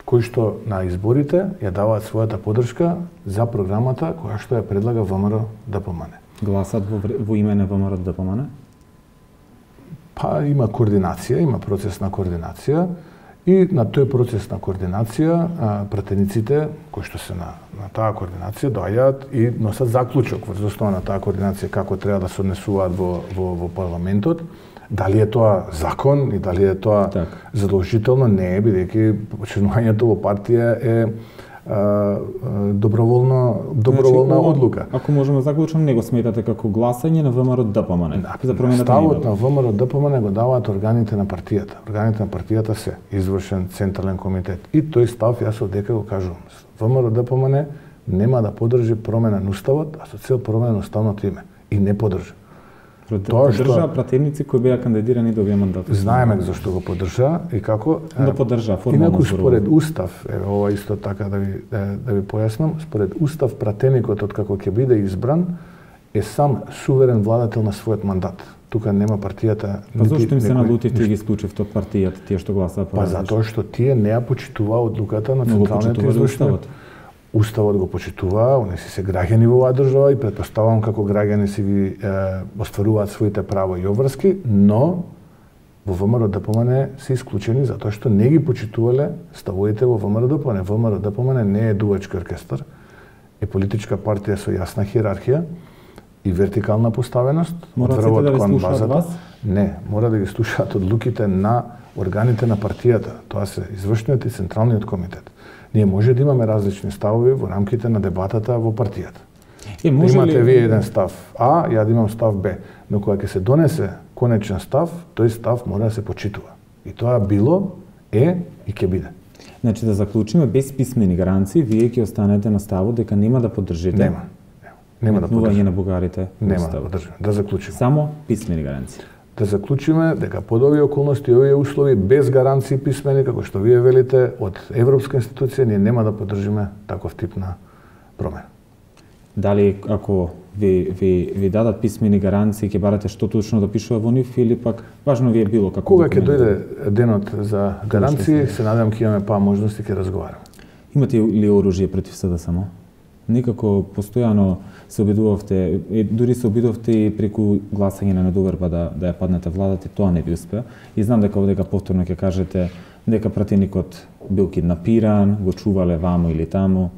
Кои што на изборите ја даваат својата поддршка за програмата која што ја предлага ВМРО-ДПМН.
Гласат во, во име на ВМРО-ДПМН?
Па има координација, има процес на координација и на тој процес на координација а, пратениците кои што се на, на таа координација доаѓаат и носат заклучок врз основа на таа координација како треба да се однесуваат во, во, во парламентот. Дали е тоа закон и дали е тоа
так.
задолжително, не е, бидејќи членувањето во партија е а, а, доброволно доброволна
значи,
одлука.
Ако можеме да заклучам, не го сметате како гласање на ВМРО-ДПМН за промената на
Ставот
името.
на ВМРО-ДПМН го даваат органите на партијата. Органите на партијата се извршен централен комитет. И тој став јас одека го кажувам. ВМРО-ДПМН нема да поддржи промена на уставот, а со цел промена на уставното име. И не поддржа.
Тоа што поддржа пратеници кои беа кандидирани да овие мандати.
Знаеме зашто го поддржа и како.
Да поддржа формално.
Инаку според устав, е ова исто така да ви да, да ви појаснам, според устав пратеникот од како ќе биде избран е сам суверен владател на својот мандат. Тука нема партијата.
Па зошто им се налутивте и ги исклучивте од партијата, тие што гласаа по
Па затоа што тие не ја почитуваа одлуката на
Но го
централниот
почитувале
извршен.
уставот.
Уставот го почитуваа, они си се граѓани во оваа држава и претпоставувам како граѓани си ги е, остваруваат своите права и обврски, но во ВМРО-ДПМН се исклучени затоа што не ги почитувале ставовите во ВМРО-ДПМН. ВМРО-ДПМН не е дувачки оркестар, е политичка партија со јасна хиерархија и вертикална поставеност.
Мора сите да ви слушаат вас?
Не, мора да ги слушаат одлуките на органите на партијата. Тоа се извршниот и централниот комитет. Ние може да имаме различни ставови во рамките на дебатата во партијата.
Е, може
Имате
ли...
вие еден став А, ја да имам став Б, но кога ќе се донесе конечен став, тој став мора да се почитува. И тоа било, е и ќе биде.
Значи да заклучиме без писмени гаранции, вие ќе останете на ставот дека нема да поддржите.
Нема. Нема, нема да
метнување
поддржам.
на бугарите.
Нема да поддржам. Да заклучиме.
Само писмени гаранции.
Да заклучиме дека под овие околности и овие услови без гаранции писмени, како што вие велите, од европска институција ние нема да поддржиме таков тип на промена.
Дали ако ви, ви, ви дадат писмени гаранции, ќе барате што точно да пишува во нив или пак важно ви е било како
Кога ќе
документ?
дојде денот за гаранции, се надевам ќе имаме па можности ќе разговараме.
Имате ли оружје против СДСМ само? Некако постојано се обидувавте, и дури се обидувавте и преку гласање на недоверба да, да ја паднете владата, и тоа не ви успеа. И знам дека овдека повторно ќе кажете дека пратеникот бил киднапиран, го чувале ваму или таму.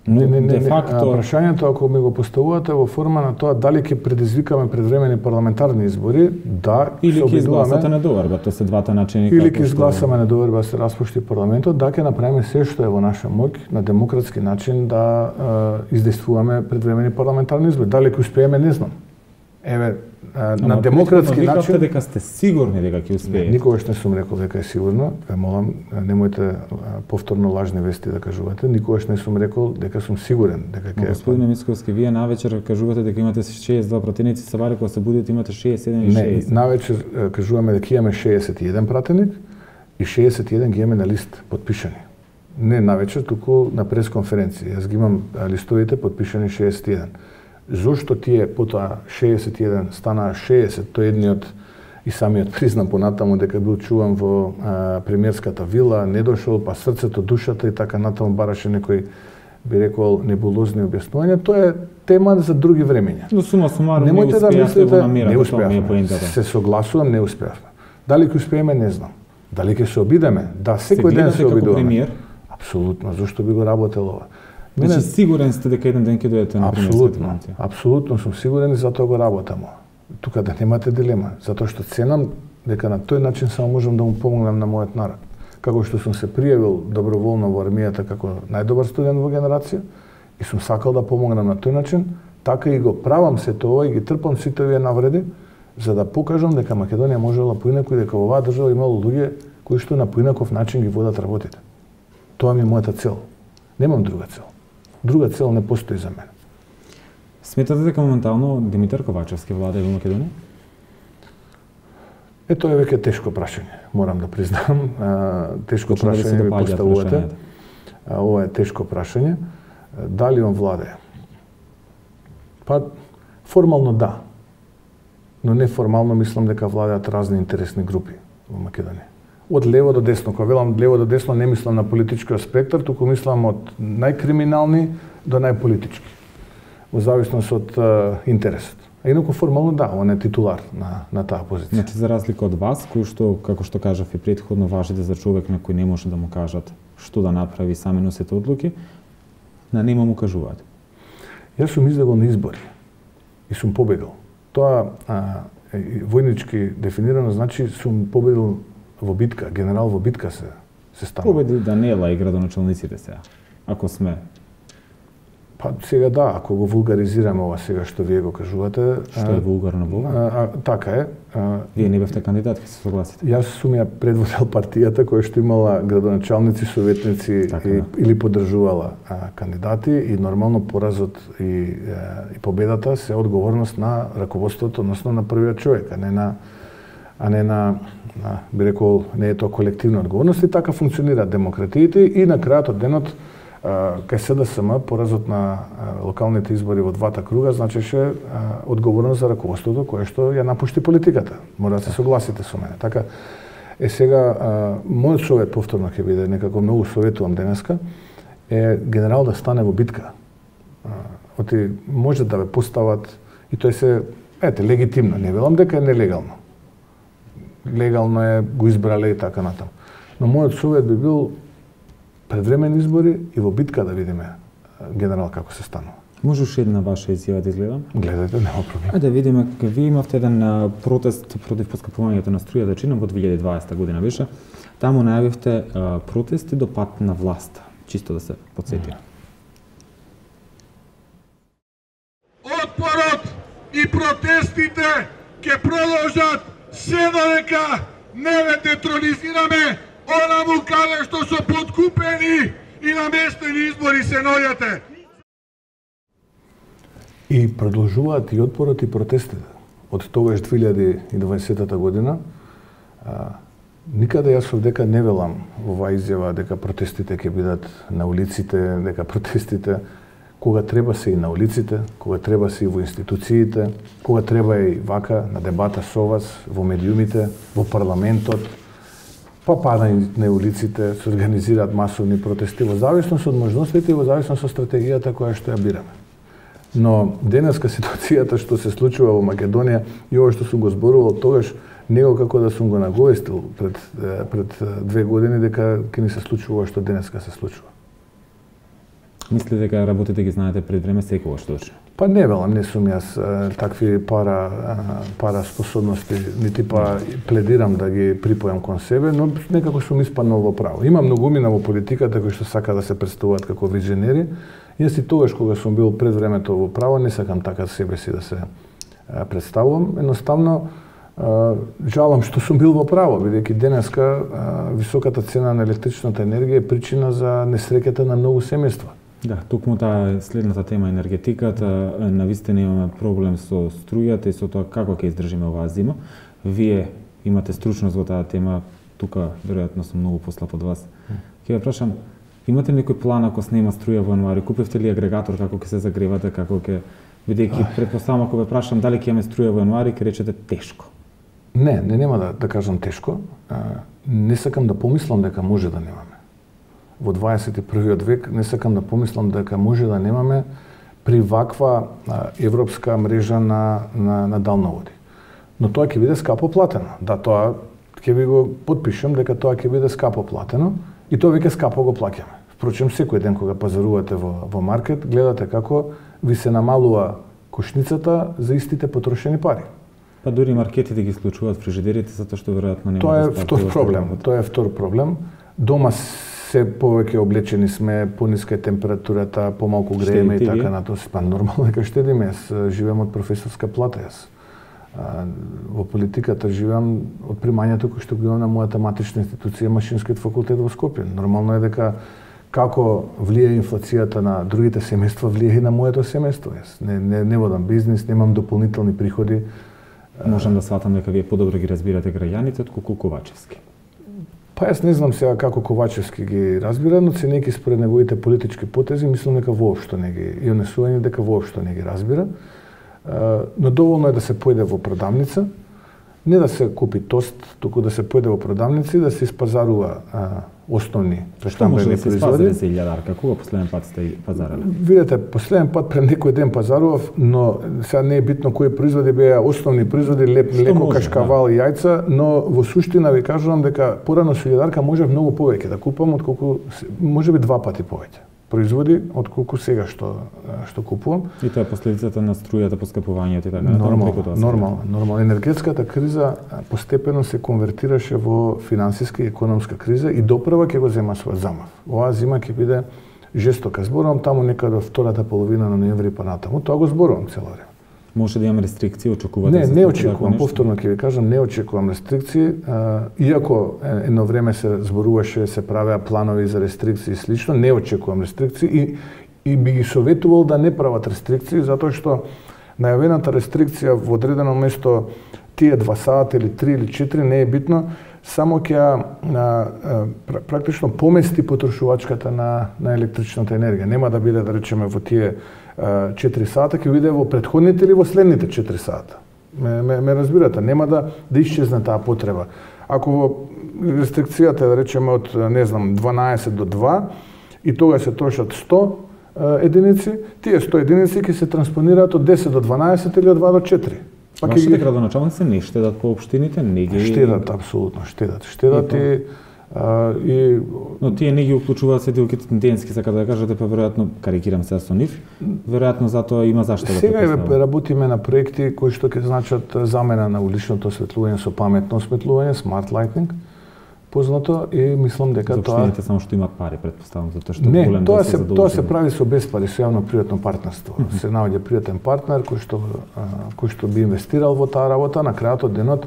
Но
не, не, не,
де факто
не. Прашањето ако ми го поставувате во форма на тоа дали ќе предизвикаме предвремени парламентарни избори, да,
или ќе
обидуваме,
изгласате недоверба, тоа се двата начини
или ќе изгласаме недоверба се распушти парламентот, да ќе направиме се што е во наша моќ на демократски начин да е, издействуваме предвремени парламентарни избори. Дали ќе успееме, не знам. Еве,
Ама,
на демократски начин
дека сте сигурни дека ќе успеете.
Никогаш не сум рекол дека е сигурно. Ве молам, немојте повторно лажни вести да кажувате. Никогаш не сум рекол дека сум сигурен дека ќе.
Господин Мицковски, вие навечер кажувате дека имате шеесет и два пратеници, се вари кога се будите имате шеесет и еден и шеесет.
Не, навечер кажуваме дека имаме шеесет и еден пратеник и шеесет и еден ги имаме на лист подпишани. Не навечер, туку на пресконференција. Јас ги имам листовите подпишани шеесет и еден. Зошто тие потоа шеесет и еден станаа шеесет, тој едниот и самиот признам понатаму дека бил чуван во а, премиерската вила, не дошол, па срцето, душата и така натаму бараше некој би рекол небулозни објаснувања, тоа е тема за други времења.
Но сума сумарно
не успеавте
да го намирате,
не
тоа ми е поентата.
Се согласувам, не успеавме. Дали ќе успееме, не знам. Дали ќе се обидеме? Да, секој ден се обидуваме.
Премиер?
Апсолутно, зашто би го работел ова?
Значи сигурен сте дека еден ден ќе дојдете на премиерската функција?
Апсолутно сум сигурен и затоа го работам. Тука да немате дилема, затоа што ценам дека на тој начин само можам да му помогнам на мојот народ. Како што сум се пријавил доброволно во армијата како најдобар студент во генерација и сум сакал да помогнам на тој начин, така и го правам се тоа и ги трпам сите овие навреди за да покажам дека Македонија можела поинаку и дека во оваа држава имало луѓе кои што на поинаков начин ги водат работите. Тоа ми е мојата цел. Немам друга цел. Друга цел не постои за мене.
Сметате дека моментално Димитар Ковачевски владее во Македонија?
Е, тоа е веќе тешко прашање, морам да признам. А, тешко Почна прашање ми поставувате. А, ова е тешко прашање. Дали он владее? Па, формално да. Но неформално мислам дека владеат разни интересни групи во Македонија. Од лево до десно, кога велам лево до десно, не мислам на политичкиот спектар, туку мислам од најкриминални до најполитички, во зависност од uh, интересот. А инаку формално да, он е титулар на, на таа позиција.
Значи, за разлика од вас, кој што, како што кажав и претходно, важите за човек на кој не може да му кажат што да направи, сами носите одлуки, на нема му кажуваат.
Јас сум излегол на избори и сум победил. Тоа а, војнички дефинирано значи сум победил во битка, генерал во битка се се станува.
Победи Даниела и градоначалниците сега, ако сме.
Па сега да, ако го вулгаризираме ова сега што вие го кажувате,
што е вулгарно во ова?
А, а, така е. А,
вие не бевте кандидат, ќе се согласите.
Јас сум ја предводел партијата која што имала градоначалници, советници
така,
и,
да.
или поддржувала а, кандидати и нормално поразот и, а, и победата се одговорност на раководството, односно на првиот човек, а не на а не на, на би рекол, не е тоа колективна одговорност и така функционираат демократиите и на крајот од денот кај СДСМ поразот на локалните избори во двата круга значеше одговорност за раководството кое што ја напушти политиката. Мора да се согласите со мене. Така е сега мојот совет повторно ќе биде некако многу советувам денеска е генерал да стане во битка. Оти може да ве постават и тоа се ете легитимно, не велам дека е нелегално. Легално е го избрале и така натаму. Но мојот совет би бил предвремени избори и во битка да видиме генерал како се станува.
Може уште една ваша изјава да изгледам?
Гледате, нема проблем.
Ајде да видиме, вие имавте еден протест против поскапувањето на струјата, чинам во две илјади и дваесета година беше. Таму најавивте протести до пат на власт. Чисто да се потсетим.
Отпорот и протестите ќе продолжат се додека не ве детронизираме онаму каде што со подкупени и наместени избори се наоѓате.
И продолжуваат и отпорот и протестите. Од тогаш две илјади и дваесета година, а, никаде јас овдека не велам оваа изјава дека протестите ќе бидат на улиците, дека протестите кога треба се и на улиците, кога треба се и во институциите, кога треба и вака на дебата со вас, во медиумите, во парламентот, па па на, на улиците се организираат масовни протести во зависност од можностите и во зависност од стратегијата која што ја бираме. Но денеска ситуацијата што се случува во Македонија и ова што сум го зборувал тогаш него како да сум го наговестил пред пред две години дека ќе ни се случува што денеска се случува.
Мислите дека работите ги знаете пред време секогаш точно?
Па не велам, не сум јас такви пара пара способности, нити па пледирам да ги припојам кон себе, но некако сум испаднал во право. Има многумина во политиката кои што сака да се представуваат како визионери. Јас и тогаш кога сум бил пред времето во право, не сакам така себе си да се представувам. Едноставно жалам што сум бил во право, бидејќи денеска високата цена на електричната енергија е причина за несреќата на многу семејства.
Да, токму таа следната тема енергетиката, навистина имаме проблем со струјата и со тоа како ќе издржиме оваа зима. Вие имате стручност во таа тема, тука веројатно сум многу послаб од вас. Ќе ве прашам, имате ли некој план ако снема струја во јануари? Купивте ли агрегатор, како ќе се загревате, како ќе бидејќи претпоставам ако ве прашам дали ќе имаме струја во јануари, ќе речете тешко.
Не, не нема да да кажам тешко. Не сакам да помислам дека може да немаме. Во дваесет и првиот век не сакам да помислам дека може да немаме при ваква а, европска мрежа на, на, на далноводи. Но тоа ќе биде скапо платено. Да, тоа ќе ви го потпишам дека тоа ќе биде скапо платено и тоа веќе скапо го плаќаме. Впрочем, секој ден кога пазарувате во, во маркет, гледате како ви се намалува кошницата за истите потрошени пари.
Па дури маркетите ги исклучуваат фрижидерите затоа што веројатно нема.
Тоа е втор проблем. Тоа е втор проблем. Дома се повеќе облечени сме, пониска е температурата, помалку грееме и така натаму. Па нормално дека штедиме. Јас живеам од професорска плата јас. Во политиката живеам од примањето кој што го имам на мојата матична институција, Машинскиот факултет во Скопје. Нормално е дека како влие инфлацијата на другите семејства, влие и на моето семејство. Јас не, не, не водам бизнис, немам дополнителни приходи.
Можам да сватам дека вие подобро ги разбирате граѓаните отколку Ковачевски.
Па јас не знам сега како Ковачевски ги разбира, но ценејќи според неговите политички потези, мислам дека воопшто не ги и онесување дека воопшто не ги разбира. Но доволно е да се појде во продавница, не да се купи тост, туку да се појде во продавница и да се испазарува основни прештамбени
производи. Што може да се испазари за илјадарка? Кога последен пат сте пазарале?
Видете, последен пат пред некој ден пазарував, но сега не е битно кои производи беа основни производи, леп, леко, кашкавал и јајца, но во суштина ви кажувам дека порано со илјадарка може многу повеќе да купам отколку можеби два пати повеќе производи отколку сега што што купувам.
И тоа е последицата на струјата, поскапувањето и така
натаму. Нормално, нормално, нормално. Енергетската криза постепено се конвертираше во финансиска и економска криза и допрва ќе го зема свој замав. Оваа зима ќе биде жестока. Зборувам таму некаде од втората половина на ноември па натаму. Тоа го зборувам цело време.
Може да имаме рестрикции, очекувате?
Не, не очекувам, повторно ќе ви кажам, не очекувам рестрикции. Иако едно време се зборуваше, се правеа планови за рестрикции и слично, не очекувам рестрикции и, и би ги советувал да не прават рестрикции, затоа што најавената рестрикција во одредено место тие два сата или три или четири не е битно, само ќе практично помести потрошувачката на, на електричната енергија. Нема да биде, да речеме, во тие четири сата, ќе биде во претходните или во следните четири сата. Ме, ме, ме разбирате, нема да, да исчезне таа потреба. Ако во рестрикцијата, да речеме, од, не знам, дванаесет до два, и тога се трошат сто единици, тие сто единици ќе се транспонираат од десет до дванаесет или од два до четири.
Па вашите градоначалници не штедат по општините, не ги...
Штедат, апсолутно, штедат. Штедат и... А, и...
Но тие не ги уклучуваат седилките тенденски, сака да кажете, па веројатно, карикирам се со нив, веројатно затоа има зашто да
сега работиме на проекти кои што ќе значат замена на уличното осветлување со паметно осветлување, smart lighting, познато, и мислам дека тоа...
За само што имаат пари, претпоставам, затоа што
не,
голем
тоа се тоа се прави со без пари, со јавно-приватно партнерство. Mm -hmm. Се наоѓа приватен партнер кој што кој што би инвестирал во таа работа, на крајот од денот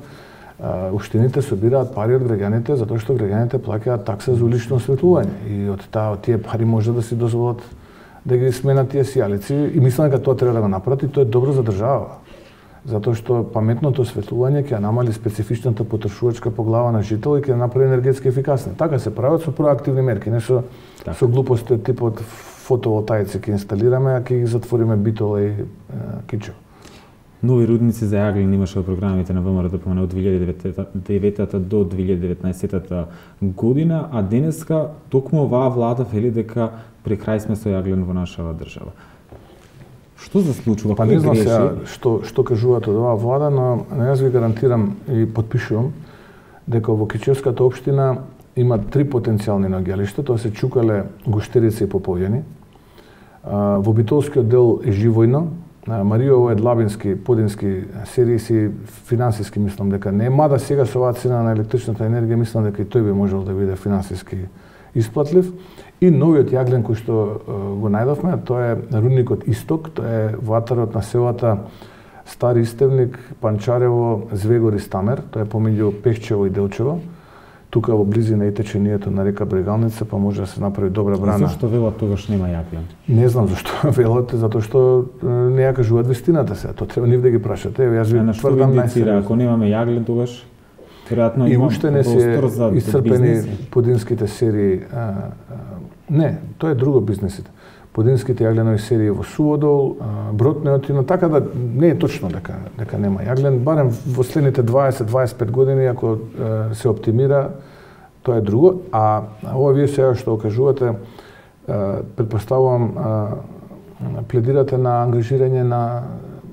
општините собираат пари од граѓаните затоа што граѓаните плаќаат такса за улично осветлување и од таа од тие пари може да си дозволат да ги сменат тие сијалици и мислам дека тоа треба да го направи, тоа е добро за држава. Затоа што паметното осветлување ќе намали специфичната потрошувачка по глава на жител и ќе направи енергетски ефикасни. Така се прават со проактивни мерки, не со так. со глупости од типот фотоволтаици ќе инсталираме, а ќе ги затвориме битола и кичо.
Нови рудници за јаглен имаше во програмите на ВМРО ДПМН од две илјади и девета до две илјади и деветнаесетта година, а денеска токму оваа влада вели дека при крај сме со јаглен во нашава држава. Што се случува?
Па не знам сега што што кажуваат од оваа влада, но јас ви гарантирам и потпишувам дека во Кичевската општина има три потенцијални наоѓалишта, тоа се Чукале, Гуштерица и Поповјани. Во Битолскиот дел е Живојно, Мариово е Длабински, Подински, Сериси, финансиски мислам дека не, мада сега со оваа цена на електричната енергија мислам дека и тој би можел да биде финансиски исплатлив. И новиот јаглен кој што го најдовме, тоа е рудникот Исток, тоа е во атарот на селата Стари Истевник, Панчарево, Звегор и Стамер, тоа е помеѓу Пехчево и Делчево. Тука во близина и течението на река Брегалница, па може да се направи добра брана.
Зашто велат тогаш нема јаглен?
Не знам зашто велат, затоа што не ја кажуваат вистината се. Тоа треба нив да ги прашате. Јас ви
тврдам најсериозно. Ако немаме јаглен тогаш веројатно
и уште не се исцрпени подинските серии. А, а, не, тоа е друго бизнесите. Подинските јагленови серии во Суводол, Брод Неотино, така да не е точно дека дека нема јаглен, барем во следните дваесет до дваесет и пет години ако е, се оптимира, тоа е друго, а ова вие сега што кажувате, претпоставувам пледирате на ангажирање на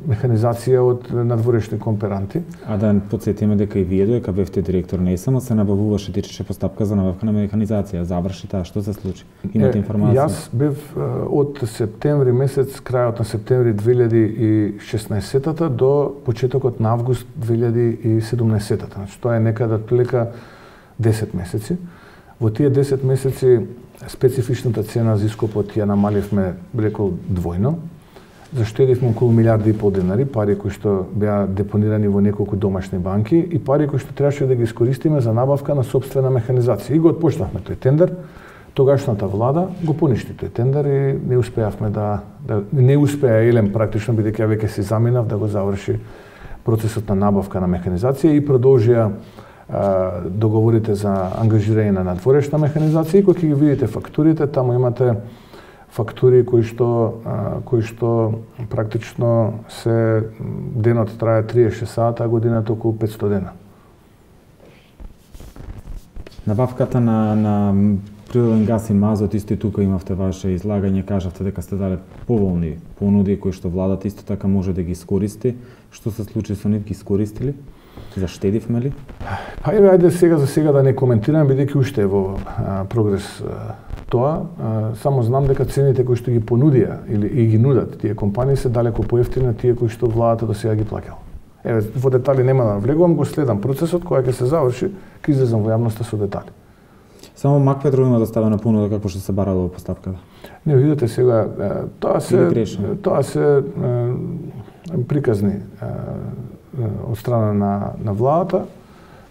механизација од надворешни кооперанти.
А да подсетиме дека и вие додека бевте директор на ЕСМ се набавуваше течеше постапка за набавка на механизација. Заврши таа, што се случи? Имате информација?
Јас бев од септември месец, крајот на септември две илјади и шеснаесетта до почетокот на август две илјади и седумнаесетта. Значи тоа е некаде отприлика десет месеци. Во тие десет месеци специфичната цена за ископот ја намаливме рекол двојно. Заштедивме околу милијарда и пол денари, пари кои што беа депонирани во неколку домашни банки и пари кои што требаше да ги искористиме за набавка на сопствена механизација. И го отпочнавме тој тендер. Тогашната влада го поништи тој тендер и не успеавме да, да не успеа Елем практично бидејќи ја веќе си заминав да го заврши процесот на набавка на механизација и продолжија а, договорите за ангажирање на надворешна механизација. И кога ќе ги видите фактурите, таму имате фактури кои што кои што практично се денот трае триесет и шест сата, а годината околу петстотини дена.
Набавката на на природен газ и мазот исто и тука имавте ваше излагање, кажавте дека сте дали поволни понуди кои што владата исто така може да ги искористи. Што се случи со нив, ги искористили? Заштедивме ли?
Па еве ајде сега за сега да не коментирам бидејќи уште е во а, прогрес а, тоа. А, само знам дека цените кои што ги понудија или и ги нудат тие компании се далеко поевтини од тие кои што владата до сега ги плаќала. Еве во детали нема да влегувам, го следам процесот кој ќе се заврши, ќе излезам во јавноста со детали.
Само Макпетро има доставена понуда како што се барало во поставката.
Не видите сега тоа се тоа се приказни од страна на на владата.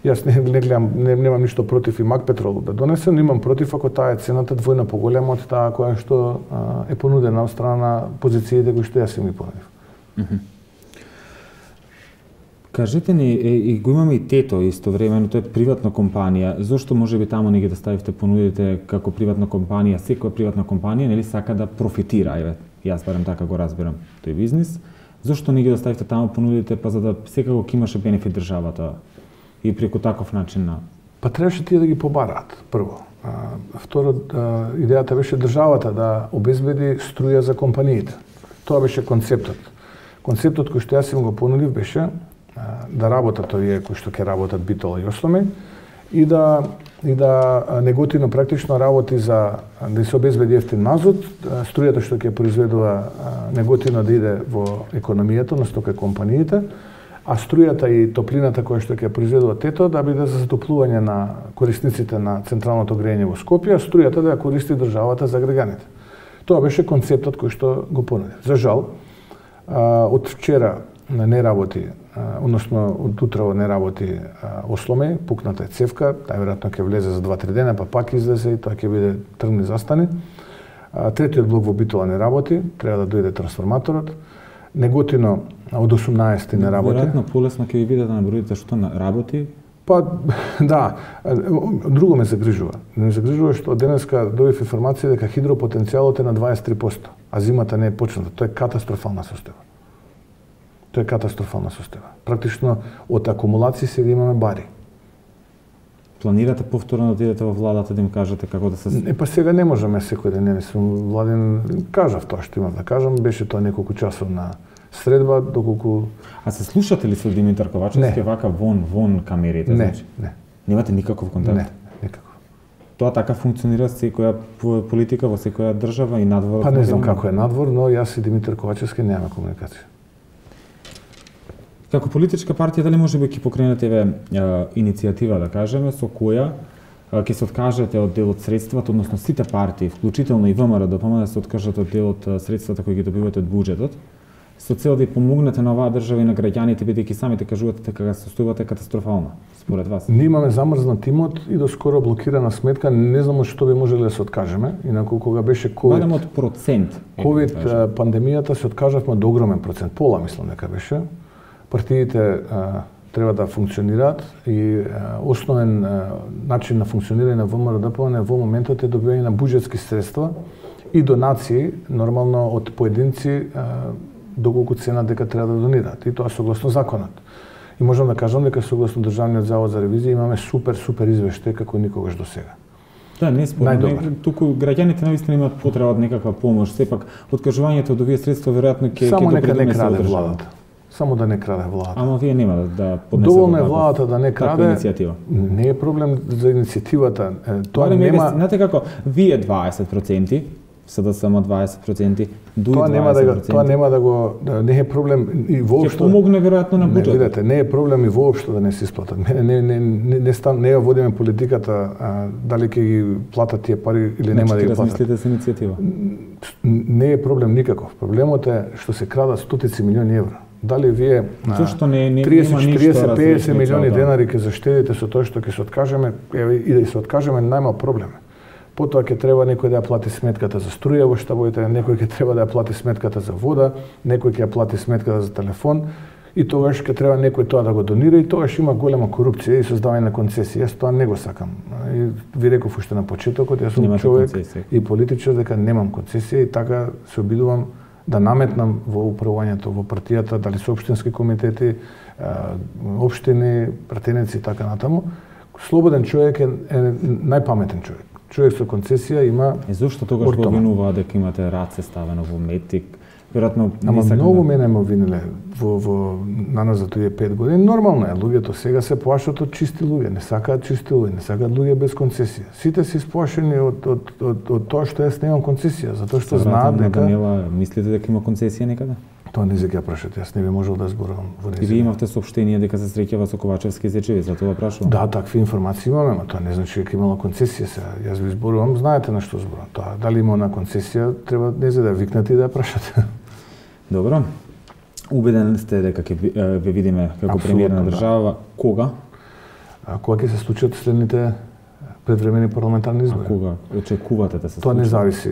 Јас не, не гледам, не, немам ништо против и Макпетрол да донесе, но имам против ако таа е цената двојно поголема од таа која што а, е понудена од страна на позициите кои што јас им ги понудив.
Mm -hmm. Кажете ни, е, и го имаме и Тето истовремено, тоа е приватна компанија. Зошто можеби таму не ги да ставите понудите како приватна компанија? Секоја приватна компанија нели сака да профитира, еве, јас барем така го разбирам тој бизнис. Зошто не ги да ставите таму понудите, па за да секако ќе имаше бенефит државата и преку таков начин на...
Па требаше тие да ги побараат, прво. А, второ, а, идејата беше државата да обезбеди струја за компаниите. Тоа беше концептот. Концептот кој што јас им го понудив беше а, да работат овие кои што ќе работат Битола и Осломи и да и да Неготино практично работи за да се обезбеди ефтин мазут, струјата што ќе произведува Неготино да иде во економијата, односно кај компаниите, а струјата и топлината која што ќе произведува Тето да биде за затоплување на корисниците на централното грејење во Скопје, а струјата да ја користи државата за граѓаните. Тоа беше концептот кој што го понудив. За жал, од вчера не работи, односно од утрово не работи Осломе, пукната е цевка, тај веројатно ќе влезе за два-три дена, па пак излезе и тоа ќе биде тргни застани. Третиот блок во Битола не работи, треба да дојде трансформаторот. Неготино од осумнаесети не работи.
Веројатно полесно ќе ви биде да наброите што работи.
Па да, друго ме загрижува. Ме загрижува што денеска добив информација дека хидропотенцијалот е на дваесет и три проценти, а зимата не е почната. Тоа е катастрофална состојба. Тоа е катастрофална состојба. Практично од акумулации сега имаме бари.
Планирате повторно да отидете во владата да им кажете како да се...
Не, па сега не можеме секој ден, не сум владен, кажав тоа што имам да кажам, беше тоа неколку часовна средба, доколку...
А се слушате ли со Димитар Ковачевски вака вон, вон камерите?
Не,
значи?
не.
Немате никаков контакт?
Не, никаков.
Тоа така функционира секоја политика во секоја држава и надвор?
Па не знам како е надвор, но јас и Димитар Ковачевски немаме комуникација.
Како политичка партија, дали може би ќе покренете еве иницијатива, да кажеме, со која ќе се откажете од дел од средствата, односно сите партии, вклучително и ВМРО ДПМН, да се откажат од дел од средствата кои ги добивате од буџетот, со цел да ја помогнете на оваа држава и на граѓаните, бидејќи самите кажувате дека состојбата е катастрофална, според вас?
Ние имаме замрзнат имот и до скоро блокирана сметка, не знам од што би можеле да се откажеме, инаку кога беше ковид.
Барем од процент.
ковид пандемијата се откажавме од огромен процент, пола мислам дека беше. Партиите а, треба да функционираат и а, основен а, начин на функционирање на ВМРО ДПМН во моментот е добивање на буџетски средства и донации, нормално од поединци, а, доколку цена дека треба да донираат. И тоа согласно законот. И можам да кажам дека согласно Државниот завод за ревизија имаме супер, супер извештај како никогаш до сега.
Да, не спорно. Туку граѓаните навистина имаат потреба од некаква помош. Сепак, откажувањето од овие средства веројатно ќе
Само
ќе
нека не
допринесе
краде
одржава.
владата. Само да не краде владата.
Ама вие нема да, да поднесете.
Доволно е владата да не краде.
иницијатива.
Не е проблем за иницијативата. Е, Тоа
Барем
нема.
Знаете како, вие дваесет проценти, СДСМ дваесет проценти, ДУИ
Тоа нема да го,
дваесет проценти.
тоа нема да го да, не е проблем и
Ќе
воопшто.
помогне веројатно на
Не,
буџетот.
видете, не е проблем и воопшто да не се исплатат. Мене не не не не стан не ја водиме политиката а, дали ќе ги платат тие пари или нема да ги платат.
Размислите за иницијатива.
Не е проблем никаков. Проблемот е што се крадат стотици милиони евра. Дали вие
Зошто не не
триесет,
нема ништо
четириесет, петдесет
различно
милиони
од тоа?
денари ќе заштедите со тоа што ќе се откажеме, еве и да се откажеме најмал проблем. Потоа ќе треба некој да ја плати сметката за струја во штабовите, некој ќе треба да ја плати сметката за вода, некој ќе ја плати сметката за телефон и тогаш ќе треба некој тоа да го донира и тогаш има голема корупција и создавање на концесии. Јас тоа не го сакам. И ви реков уште на почетокот, јас сум
Немате
човек
концесија.
и политичар дека немам концесија и така се обидувам да наметнам во управувањето во партијата, дали се општински комитети, општини, пратеници и така натаму. Слободен човек е, е најпаметен човек. Човек со концесија има.
И зошто тогаш го обвинуваа дека имате раце ставено во метик? Веројатно
Ама
не
многу
да...
мене ме обвиниле во во наназад за тие пет години. Нормално е, луѓето сега се плашат од чисти луѓе, не сакаат чисти луѓе, не сакаат луѓе без концесија. Сите се исплашени од од од, од тоа што јас немам концесија, затоа што знаат дека
Данила, мислите дека има концесија некаде?
тоа не се ќе прашате, јас не би можел да зборувам во
И вие имавте соопштение дека се среќава со Ковачевски зечеви, за тоа прашувам.
Да, такви информации имаме, но тоа не значи дека имало концесија сега. Јас ви зборувам, знаете на што зборувам. Тоа дали има на концесија, треба не за да викнете и да ја прашате.
Добро. Убеден сте дека ќе ве видиме како премиер на држава. Кога?
А кога ќе се случат следните предвремени парламентарни избори?
А кога очекувате да се
Тоа
случи?
не зависи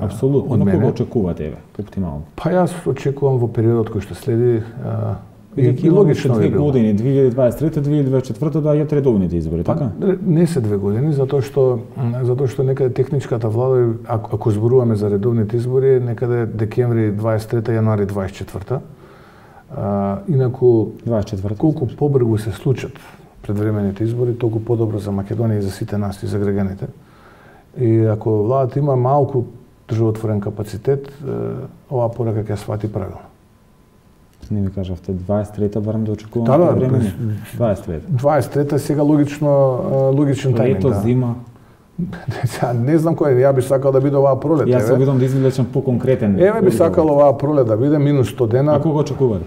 Апсолутно,
од
но
мене.
кога очекувате, еве, оптимално?
Па јас очекувам во периодот кој што следи а, и,
Бидејќи
и
логично
логично
две
би било.
години, две илјади дваесет и трета, две илјади дваесет и четврта доаѓаат редовните избори,
Па,
така?
не се две години, затоа што затоа што некаде техничката влада, ако, ако зборуваме за редовните избори, е некаде декември дваесет и трета, јануари дваесет и четврта. А, инаку
дваесет и четврта.
колку побрзо се случат предвремените избори, толку подобро за Македонија и за сите нас и за граѓаните. И ако владата има малку државотворен капацитет, оваа порака ќе ја свати правилно.
Не ми кажавте дваесет и трета барам да очекувам
Да, да,
време.
през-
дваесет и трета.
дваест и трета сега логично логичен тајминг.
Лето,
Да.
зима.
Сега не знам кој, ја би сакал да биде оваа пролет.
Јас се
еве.
обидам да извлечам поконкретен.
Еве би
одговор.
сакал оваа пролет да биде минус сто дена.
А кога очекувате?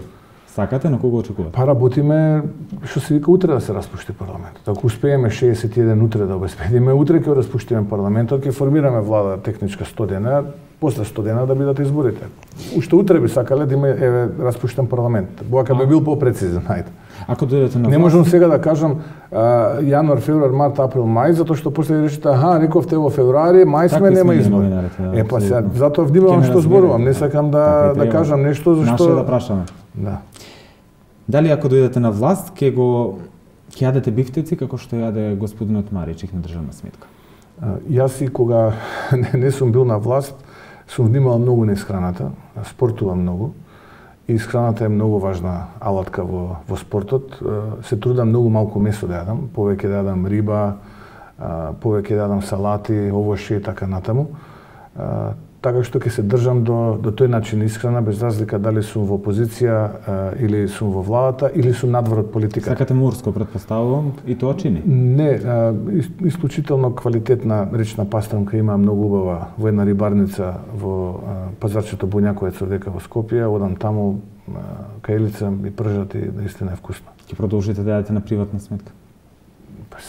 Сакате, но кога очекувате?
Па работиме, што се вика, утре да се распушти парламентот. Ако успееме шеесет и еден утре да обезбедиме, утре ќе распуштиме парламентот, ќе формираме влада техничка сто дена, после сто дена да бидат изборите. Уште утре би сакале да има еве распуштен парламент. Боака би бил попрецизен, ајде.
Ако дојдете на
Не
власт,
можам сега да кажам а, јануар, февруар, март, април, мај, затоа што после речете, аха, рековте во февруари, мај сме,
Такви
нема
сме ние
избори.
новинарите, да,
Е, па сега,
апсолутно.
затоа
Ќе
внимавам
ме
што
разберете,
зборувам, не
да.
сакам
Така
да,
и
да
треба.
кажам нешто,
Наше
зашто...
да прашаме.
Да.
Дали ако дојдете на власт, ќе го ќе јадете бифтеци како што јаде господинот Маричик на државна сметка?
А, Јас и кога не, не сум бил на власт, сум внимавал многу на исхраната, спортувам многу Исхраната е многу важна алатка во, во спортот. Се трудам многу малку месо да јадам, повеќе да јадам риба, повеќе да јадам салати, овошје и така натаму. Така што ќе се држам до, до тој начин исхрана, без разлика дали сум во опозиција или сум во владата, или сум надвор од политиката.
Сакате морско, предпоставувам, и тоа чини?
Не, исклучително квалитетна речна пастрамка има многу убава во една рибарница во пазарчето Буњаковец дека во Скопје, одам таму, кајлица и пржат и наистина е вкусно.
Ќе продолжите да јадете на приватна сметка?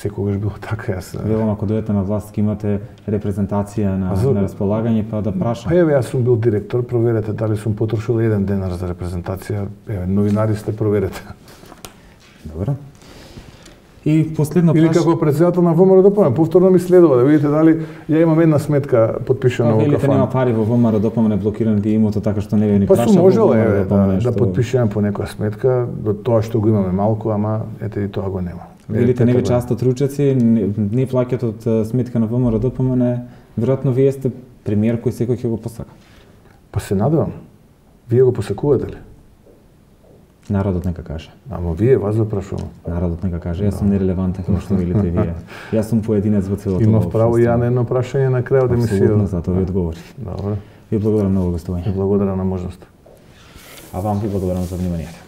Секогаш било така, јас.
Велам, ако дојдете на власт, ќе имате репрезентација на, на располагање, па да прашам.
Па еве, јас сум бил директор, проверете дали сум потрошил еден денар за репрезентација. Еве, новинари сте, проверете.
Добро. И последно
прашање. Или како председател на ВМРО-ДПМН, повторно ми следува да видите дали ја имам една сметка потпишана во кафан.
Велите нема пари во ВМРО-ДПМН, блокиран ви имото, така што не ви ни
праша. Па сум можел
еве
да, да потпишувам по некоја сметка, до тоа што го имаме малку, ама ете и тоа го нема.
Велите не ви част од ручеци, не, не плаќат од сметка на ВМРО-ДПМН, веројатно вие сте премиер кој секој ќе го посака.
Па се надевам. Вие го посакувате ли?
Народот нека каже.
Ама вие вас да прашувам.
Народот нека каже, јас сум нерелевантен како што велите вие. Јас сум поединец во целото.
Имав право ја на едно прашање на крајот да ми се.
Апсолутно, затоа ви одговори.
Добро.
Ви благодарам многу гостување.
Ви благодарам на можност.
А вам ви благодарам за вниманието.